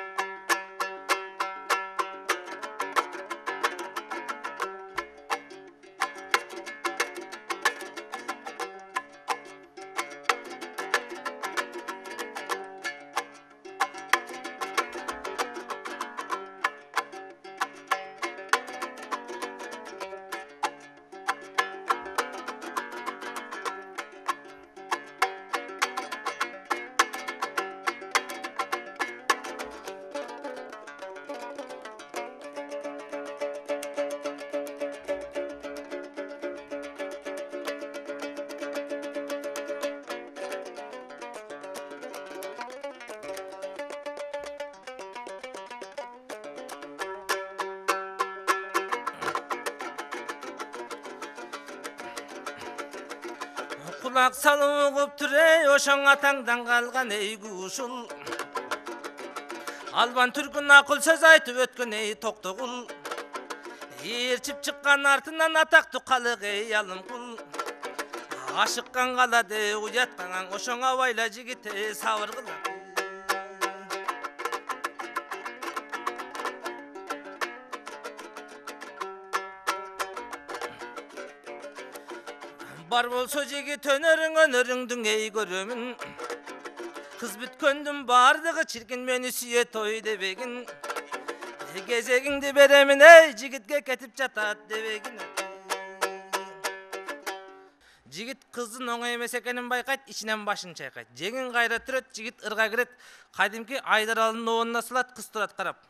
Kulak salıp türey oşan atangdan kalgan ey kuşul. Alban Türk'ün akıl söz aytıp ötkün ey Toktogul. Erçip çıkkan artından atak tukalık ey alım kul. Aşıkkan kaladı uyatkan oşan avayla jigite savırgıla. бар болсо жигит өнөрүңдүң эй көрөмүн. Кыз бүткөндүн бардыгы чиркин мени сүйө той дебегин. Кезегиңди беремин эй жигитке кетип жатат дебегин. Жигит кыздын оңой эмес экенин байкайт, ичинен башын чайкайт. Жеңин кайра түрөт, жигит ырга кирет. Кадимки Айдаралдын оонуна салат, кыз турат карап.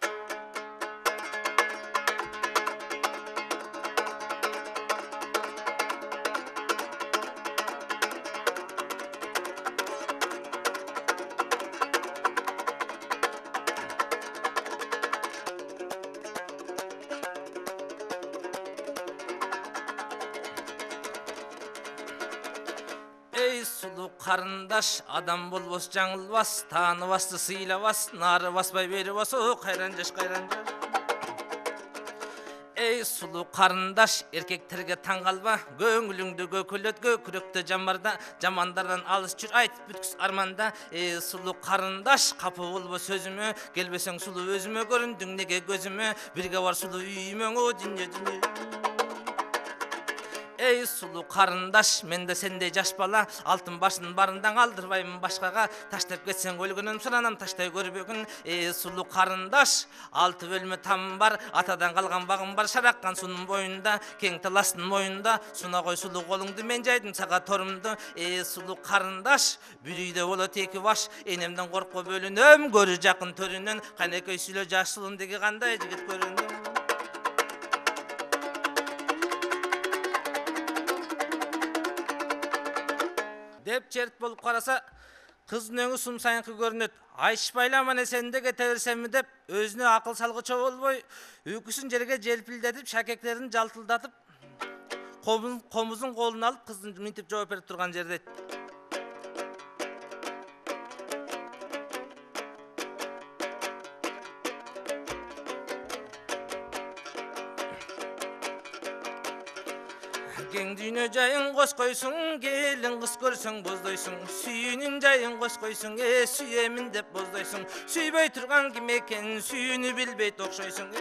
Ey сулуу карындаш, адам болбос жаңылбас, тааныбасты сыйлабас, нары баспай бери басо, кайран жаш кайран жаш. Ey сулуу карындаш, эркектерге таң калба, көңүлүңдү көкөлөткө, күрөктө жамарда, жамандардан алыс жүр, айт бүткүс арманда. Ey сулуу карындаш, капы болбо сөзүмө, келбесең сулуу өзүмө, көрүндүң неге көзүмө, бирге бар сулуу үйүмө, о дүнү дүнү. Ey сулуу карындаш, менде сендей жаш бала, алтын башын барындан алдырбаймын башкага, таштап кетсең өлгөнүм суранам таштай көрбөгүн. Ey сулуу карындаш, алты бөлмө там бар, атадан калган багым бар, шараккан сунун боюнда, кең таластын моюнда, суна кой сулуу колуңду, мен жайдым сага торумду. Ey сулуу карындаш, бир үйдө болот эки баш, энемден коркуп бөлүнөм, көрү жакын төрүнөн, канекей сүйлө жаш сулун деги кандай жигит көрүнөм. Деп черт болуп караса, кыздын өңү сум сайынкы көрүнөт. Айшпайла мане сенде кете берсемби деп, өзүнө акыл салгычы болбой, үйкүсүн жерге желпилдетип, шакектерин жалтылдатып, комузун колуна алып, кыздын минтип жооп берип турган жерде кең дүйнө жайын кош койсуң, келин кыз көрсөң боздойсуң, сүйүүнүн жайын кош койсуң, сүйөмүн деп боздойсуң, сүйбөй турган ким экен, сүйүүнү билбейт окшойсуң.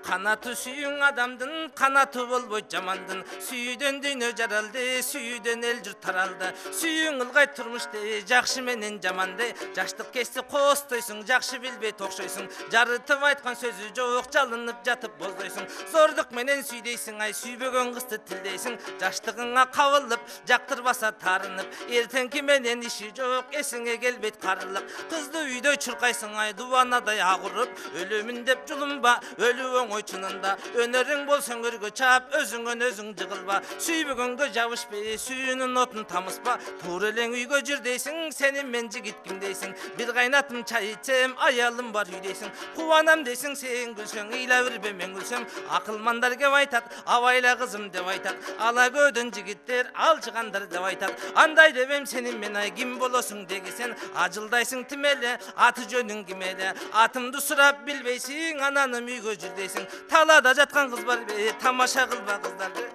Канаты сүйүң адамдын, канаты болбойт жамандын, сүйүүдөн дүйнө жаралды, сүйүүдөн эл журт таралды, сүйүң ылгай турмушты, жакшы менен жаманды, жаштык кести костойсуң, жакшы билбейт окшойсуң, жарытып айткан сөзү жок, жалынып жатып боздойсуң, зордук менен сүйдейсиң, ай сүйбөгөн кызды тилдейсиң, жаштыгыңа кабылып, жактырбаса тарынып, эртеңки менен иши жок, эсиңе келбейт карылык, кызды үйдө чуркайсың, ай дубанадай агырып, өлөмүн деп жулунба, өлүү чынында, өнөрүң болсоң өргө чап, өзүңөн өзүң жыгылба, сүйбөгөнгө жабышпы, сүйүүнүн отун тамыспа, туура элең үйгө жүр дейсиң, сени мен жигит ким дейсиң, бир кайнатым чай ичем, аялым бар үй дейсиң, кубанам дейсиң, сен күлсөң, ыйла бербе мен күлсөм, акылмандар кеп айтат, абайла кызым деп айтат, ала көөдөн жигиттер алчыгандар деп айтат, андай дебем сени мен, ай ким болосуң дегисен, ажылдайсың тим эле, аты жөнүң ким эле, атымды сурап билбейсиң, ананым үйгө жүр дейсиң, талада жаткан кыз бар бе, тамаша кылба кыздарды.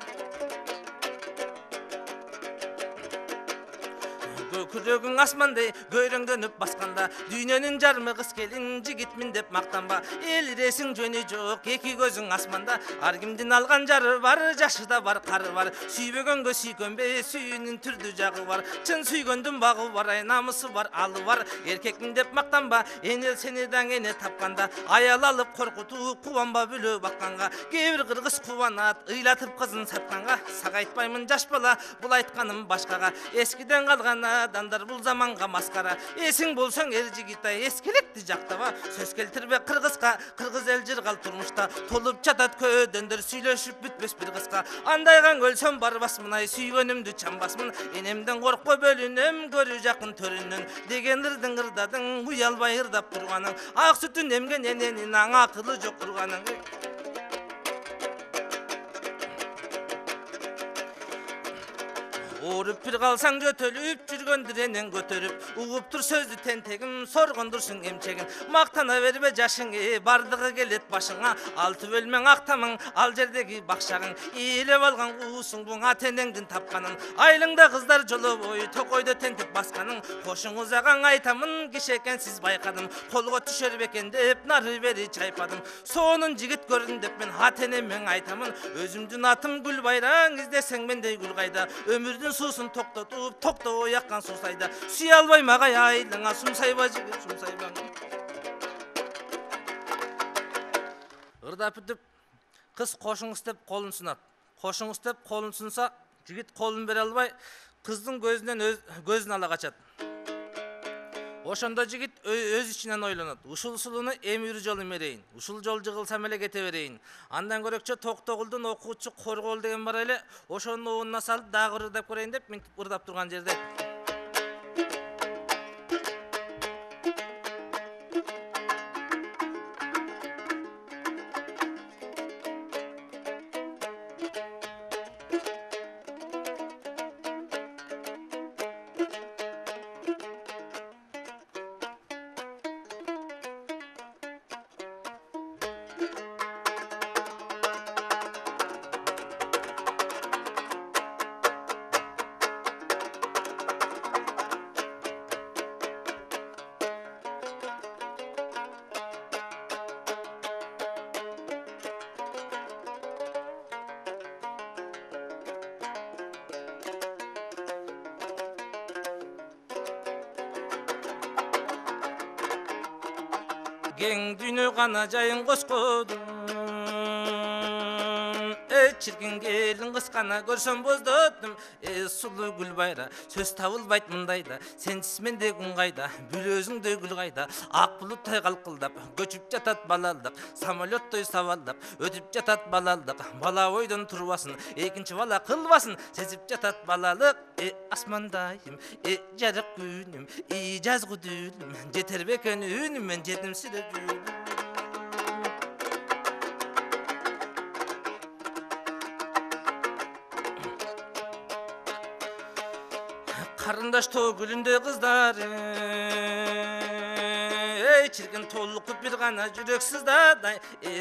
Күрөгүң асмандай көйрөңдөнүп басканда, дүйнөнүн жармы кыз келин, жигитмин деп мактанба, элиресиң жөнү жок, эки көзүң асманда, ар кимдин алган жары бар, жашыда бар, кары бар, сүйбөгөнгө сүйкөнбө, сүйүүнүн түрдүү жагы бар, чын сүйгөндүн багы бар, ай намысы бар, алы бар, эркекмин деп мактанба, энел сени даң эне тапканда, аял алып коркутуп, кубанба бүлө бакканга, кээ бир кыргыз кубанат, ыйлатып кызын сатканга, сага айтпаймын жаш бала, бул айтканым башкага, эскиден калган адамдар бул заманга маскара, эсиң болсоң эр жигит, ай эскилекти жактаба, сөз келтирбе кыргызга, кыргыз эл жыргал турмушта, толуп жатат көөдөндөр, сүйлөшүп бүтпөс бир кызга, андайган өлсөм барбасмын, ай сүйгөнүмдү чамбасмын, энемден коркпой бөлүнөм, көрү жакын төрүнөн, деген ырдың ырдадың, уялбай ырдап турганың, ак сүтүн эмген эненин аң акылы жок турганың. ооруп бир калсаң жөтөлүп жүргөндүр энен көтөрүп угуп тур сөздү тентегим соргондурсуң эмчегин мактана бербе жашыңы бардыгы келет башыңа алты бөлмең актамың ал жердеги бакшагың ээлеп алган уусуң буң ата энеңдин тапканын айылыңда кыздар жолобой токойдо тентип басканын кошуңуз агаң айтамын киши экенсиз байкадым колго түшөр бекен деп нары бери чайпадым сонун жигит көрдүм деп мен ата энеме айтамын өзүмдүн атым Гүлбайраң издесең мендей гүл кайда өмүрдүн суусун токтотуп токтобой аккан суусайда сүйө албайм агай айылыңа сумсайба жигит сумсайба ырдап бүтүп кыз кошуңуз деп колун сунат кошуңуз деп колун сунса жигит колун бере албай кыздын көзүн ала качат ошондо жигит өз ичинен ойлонот ушул сулууну эми бир жолу мерейин ушул жол жыгылсам эле кете берейин андан көрөкчө Токтогулдун окуучу Коргоол деген бар эле ошонун оонуна салып дагы ырдап көрейин деп минтип ырдап турган жерде кең дүйнө гана жайын коскодум чиркин келин кыз гана көрсөм боздотум сулуу Гүлбайра сөз табылбайт мындайда сенсиз менде күн кайда бүл өзүңдөй гүл кайда ак булуттай калкылдап көчүп жатат балалдык самолеттой сабалдап өтүп жатат балалдык бала бойдон турбасын экинчи бала кылбасын сезип жатат балалык асмандайым жарык күнүм жазгы дүүлүм жетер бекен үнүм мен жетимсиреп жүрүм карындаш тоо гүлүндөй кыздар чиркин толукуп бир гана жүрөк сыздадай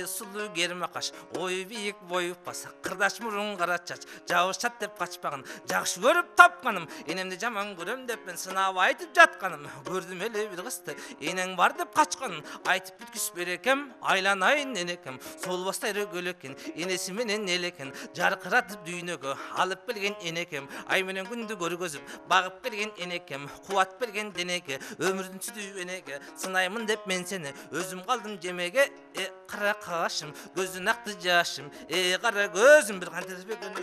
сулуу кермакаш ою бийик бою баса кырдаш мурун кара чач жабышат деп качпагын жакшы көрүп тапканым энемди жаман көрөм деп мен сынап айтып жатканым көрдүм эле бир кызды энең бар деп качканын айтып бүткүзбөр экем айланайын энекем солбостой рөгөл экен энеси менен элекен жаркыратып дүйнөгө алып келген энекем ай менен күндү көргөзүп багып келген энекем кубат берген денеге өмүрдүн сүтү энеге сынаймын деп мен сени өзүм калдым жемеге кара кашым көздүн акты жашым кара көзүм бир кантесбекен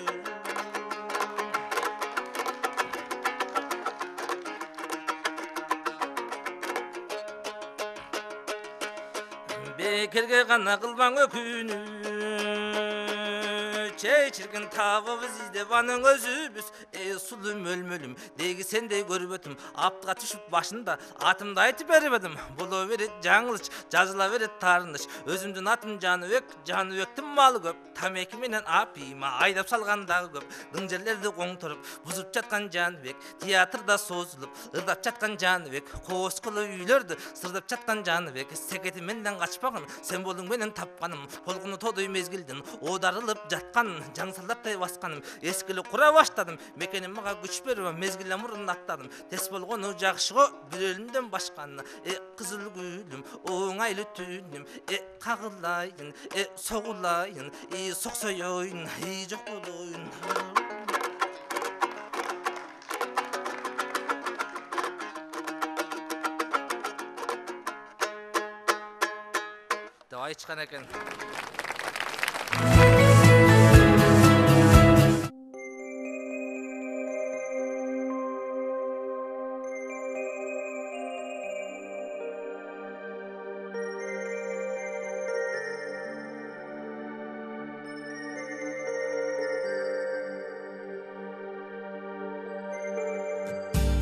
бекерге гана кылбаң өкүнү чиркин табыбыз издеп анын өзүбүз сулуу мөлмөлүм деги сендей көрбөтүм аптыга түшүп башында атымды айтып бербедим боло берет жаңылыш жазыла берет таарыныч өзүмдүн атым Жаныбектин малы көп тамеки менен апийма айдап салган дагы көп дың жерлерди коңторуп бузуп жаткан Жаныбек театрда созулуп ырдап жаткан Жаныбек кооскулуу үйлөрдү сырдап жаткан Жаныбек секети менден качпагын сен болуң менен тапканым толкуну тодой мезгилдин оодарылып жаткан жаңсалдаптай басканым эскили кура баштадым мекеним мага күч берип мезгилден мурун аттадым тес болгону жакшы го бир өлүмдөн башканы кызыл гүлүм оңайлуу түнүм кагылайын согулайын соксоёйун жок болоюн деп айтышкан экен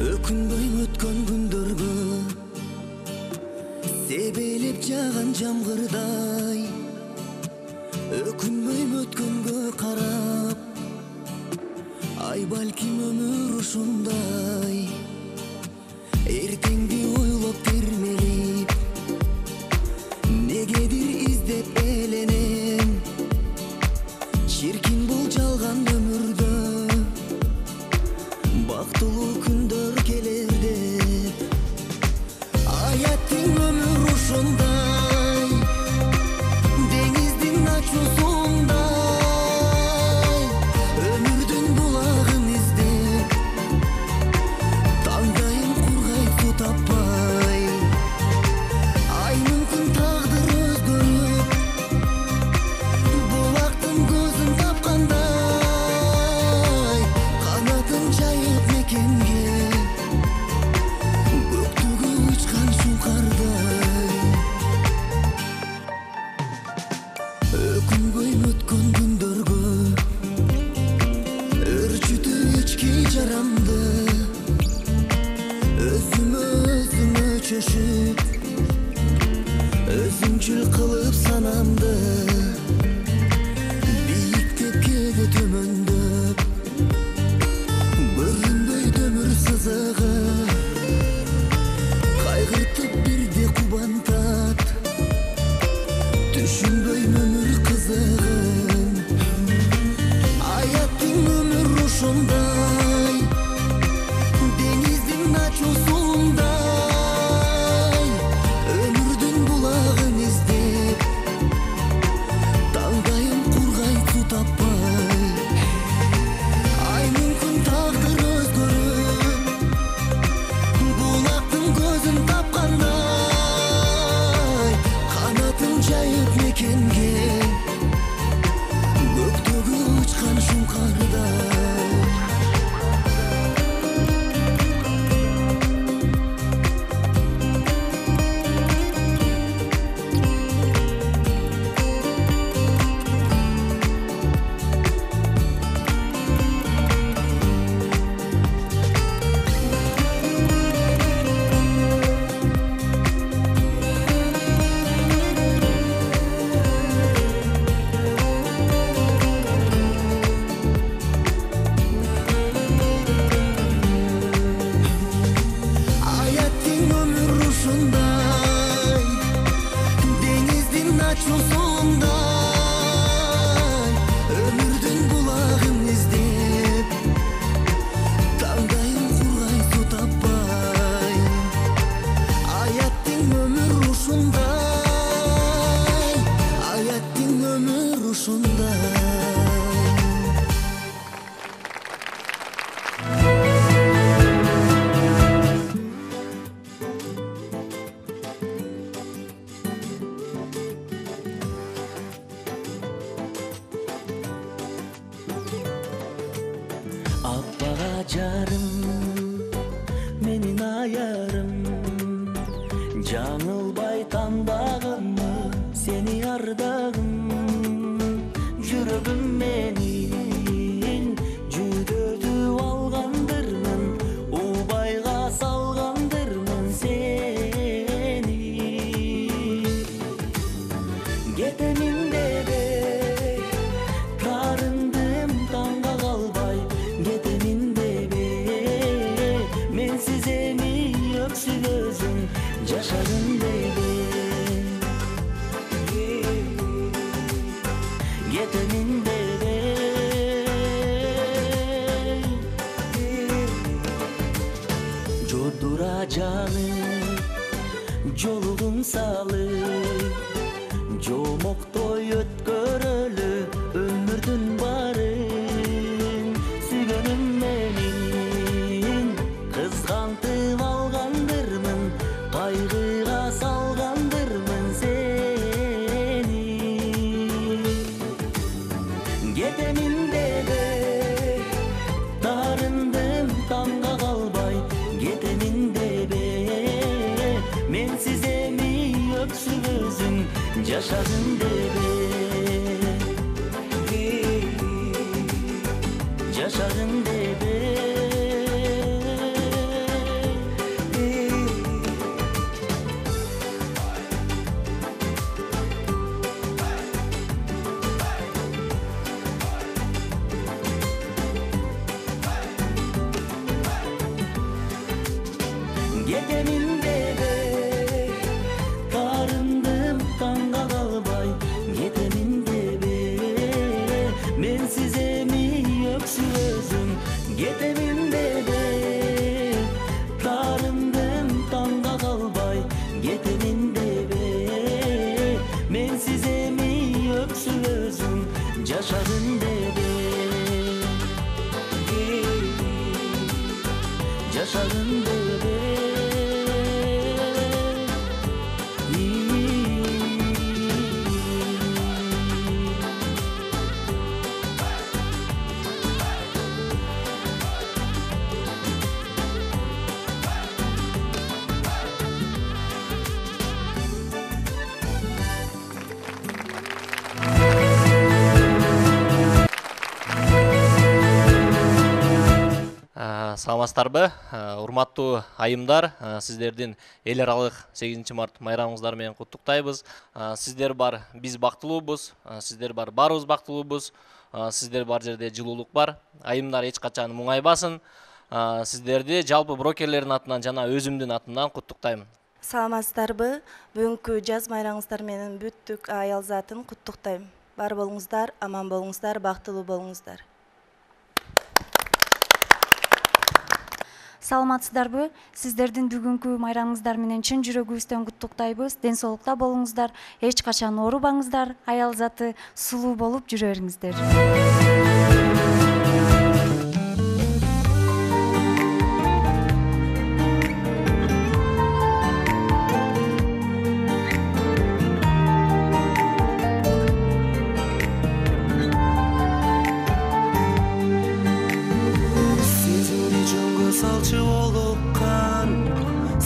Өкүнбөйм өткөн күндөргө себелеп жааган жамгырдай өкүнбөйм өткөнгө карап ай балким өмүр ушундай эртеңди ойлоп термелип негедир издеп эленем чиркин бул жалган өмүрдө бактылуу күндөр келер деп аяттын өмүр ушундай деңиздин ачуусундай өмүрдүн булагын издеп таңдайым кургай суу таппай ай мүмкүн тагдыр өзгөрүп булактын көзүн тапкандай канатын жайып мекенге көктөгү учкан шуңкардай өкүнбөй өткөн күндөргө өрчүтүп ички жарамды өзүмө чөшүп өзүмчүл кылып санамды бийиктеп кээде төмөндөп көрүнбөй өмүр сызыгы кайгыртып бирде кубантат түшүнбөй өмүр кызыгын аяттын өмүр ушундай деңиздин ачуусундай өмүрдүн булагын издеп таңдайым кургай суу таппай ай мүмкүн тагдыр өзгөрүп булактын көзүн тапкандай канатын жайып мекенге көктөгү учкан шуңкардай аяттын өмүр ушундай деңиздин ачуусундай өмүрдүн булагын издеп таңдайым кургай суу таппай аяттын өмүр ушундай аяттын өмүр ушундай аппага жарым менин аярым жаңылбай тандагымы сени ардагым жүрөгүм менин жүдөтүп алгандырмын убайга салгандырмын сени кетемин дебей тарындым таңга калбай кетемин дебей менсиз эми өксүп өзүң жашадың дебей кетемин дебей жордура жанып жолугуң салып жомоктой өткөрөлү өмүрдүн барын сүйгөнүм менин кызгантып алгандырмын кайгыга салгандырмын сени кетемин дебей тарындым таңга калбай кетемин дебей менсиз эми өксүп өзүң жашадың дебей жашадың дебей кетемин деби тарымдым таңга калбай кетемин деби менсиз эми өксүп өзүм жашадым деби жашадым деби Саламатсыздарбы, урматтуу айымдар, сиздердин эл аралык 8 март майрамыңыздар менен куттуктайбыз. Сиздер бар, биз бактылуубуз, сиздер бар, баарыбыз бактылуубуз, сиздер бар жерде жылуулук бар. Айымдар эч качан муңайбасын. Сиздерди жалпы брокерлердин атынан жана өзүмдүн атымдан куттуктайм. Саламатсыздарбы, бүгүнкү жаз майрамыңыздар менен бүттүк аял затын куттуктайм. Бар болуңуздар, аман болуңуздар, бактылуу болуңуздар. Саламатсыздарбы? Сиздердин бүгүнкү майрамыңыздар менен чын жүрөгүбүздөн куттуктайбыз. Ден соолукта болуңуздар, эч качан оорубаңыздар, аял заты сулуу болуп жүрө бериңиздер.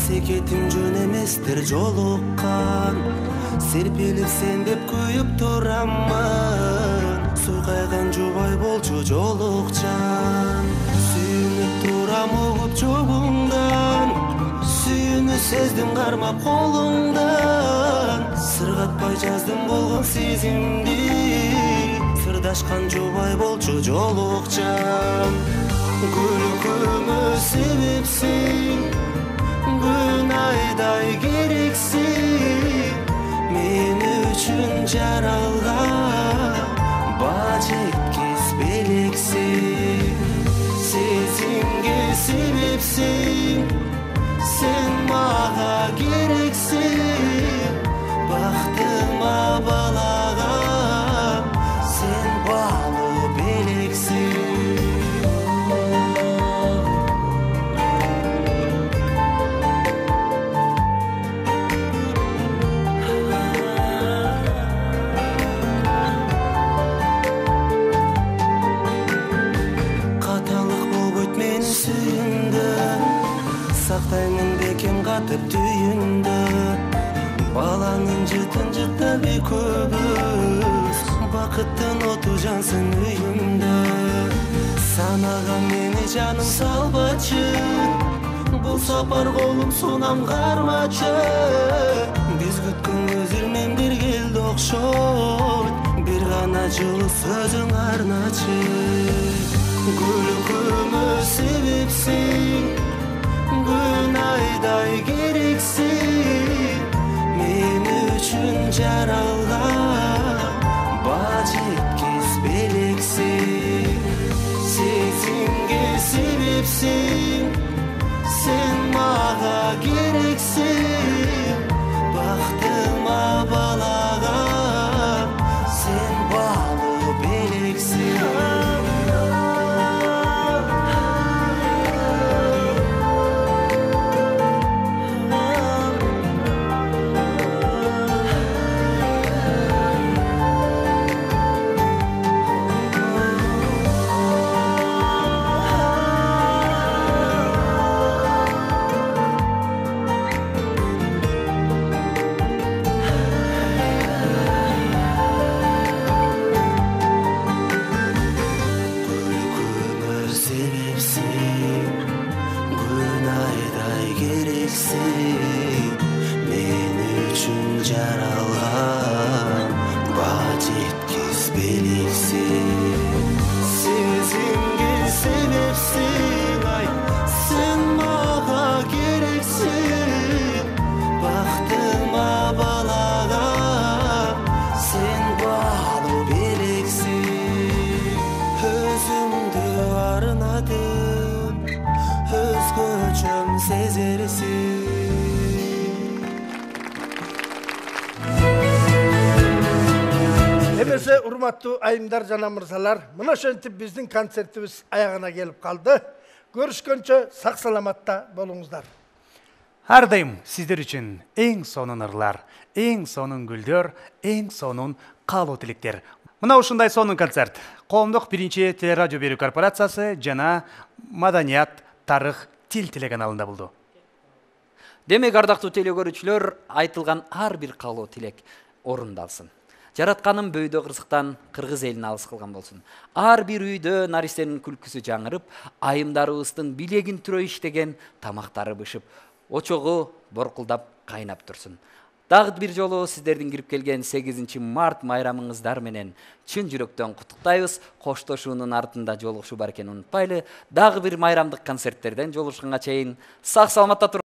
Секетим жөн эместер жолуккан серпилип сен деп күйүп тураммын суйкайган жубай болчу жолукчан сүйүнүп турам угуп жогуңдан сүйүүнү сездим кармап колуңдан сыргатпай жаздым болгон сезимди сырдашкан жубай болчу жолукчан күлкүмө себепсиң күн айдай керексиң мен үчүн жаралган баа жеткис белексиң сезимге себепсиң сен мага керексиң бактыма балаган сен баалуу белексиң сактаймын бекем катып түйүндө баланын жытын жыктап экөөбүз бакыттын оту жансын үйүмдө санага мени жаным салбачы бул сапар колум сунам кармачы биз күткөн көзүр мен бир келди окшойт бир гана жылуу сөзүң арначы күлкүмө себепсиң күн айдай керексиң мен үчүн жаралган баа жеткис белексиң сезимге себепсиң сен мага керексиң бактыма балаган сен баалуу белексиң эмесе урматтуу айымдар жана мырзалар, мына ошентип биздин концертибиз аягына келип калды. Көрүшкөнчө сак саламатта болуңуздар. Ар дайым сиздер үчүн эң сонун ырлар, эң сонун гүлдөр, эң сонун каалоо тилектер. Мына ушундай сонун концерт Коомдук биринчи телерадио берүү корпорациясы жана Маданият, тарых, тил телеканалында болду. Демек, ардактуу теле көрүүчүлөр, айтылган ар бир каалоо тилек орундалсын. Жаратканым бөйдө кырсыктан кыргыз элин алыс кылган болсун. Ар бир үйдө наристенин күлкүсү жаңырып, айымдарыбыздын билегин түрөй иштеген тамактары бышып, очогу боркулдап кайнап турсун. Дагы бир жолу сиздердин кирип келген 8 март майрамыңыздар менен чын жүрөктөн куттуктайбыз. Коштошуунун артында жолугушуу бар экенин унутпайлы. Дагы бир майрамдык концерттерден жолугушканга чейин сак саламатта туруңуздар.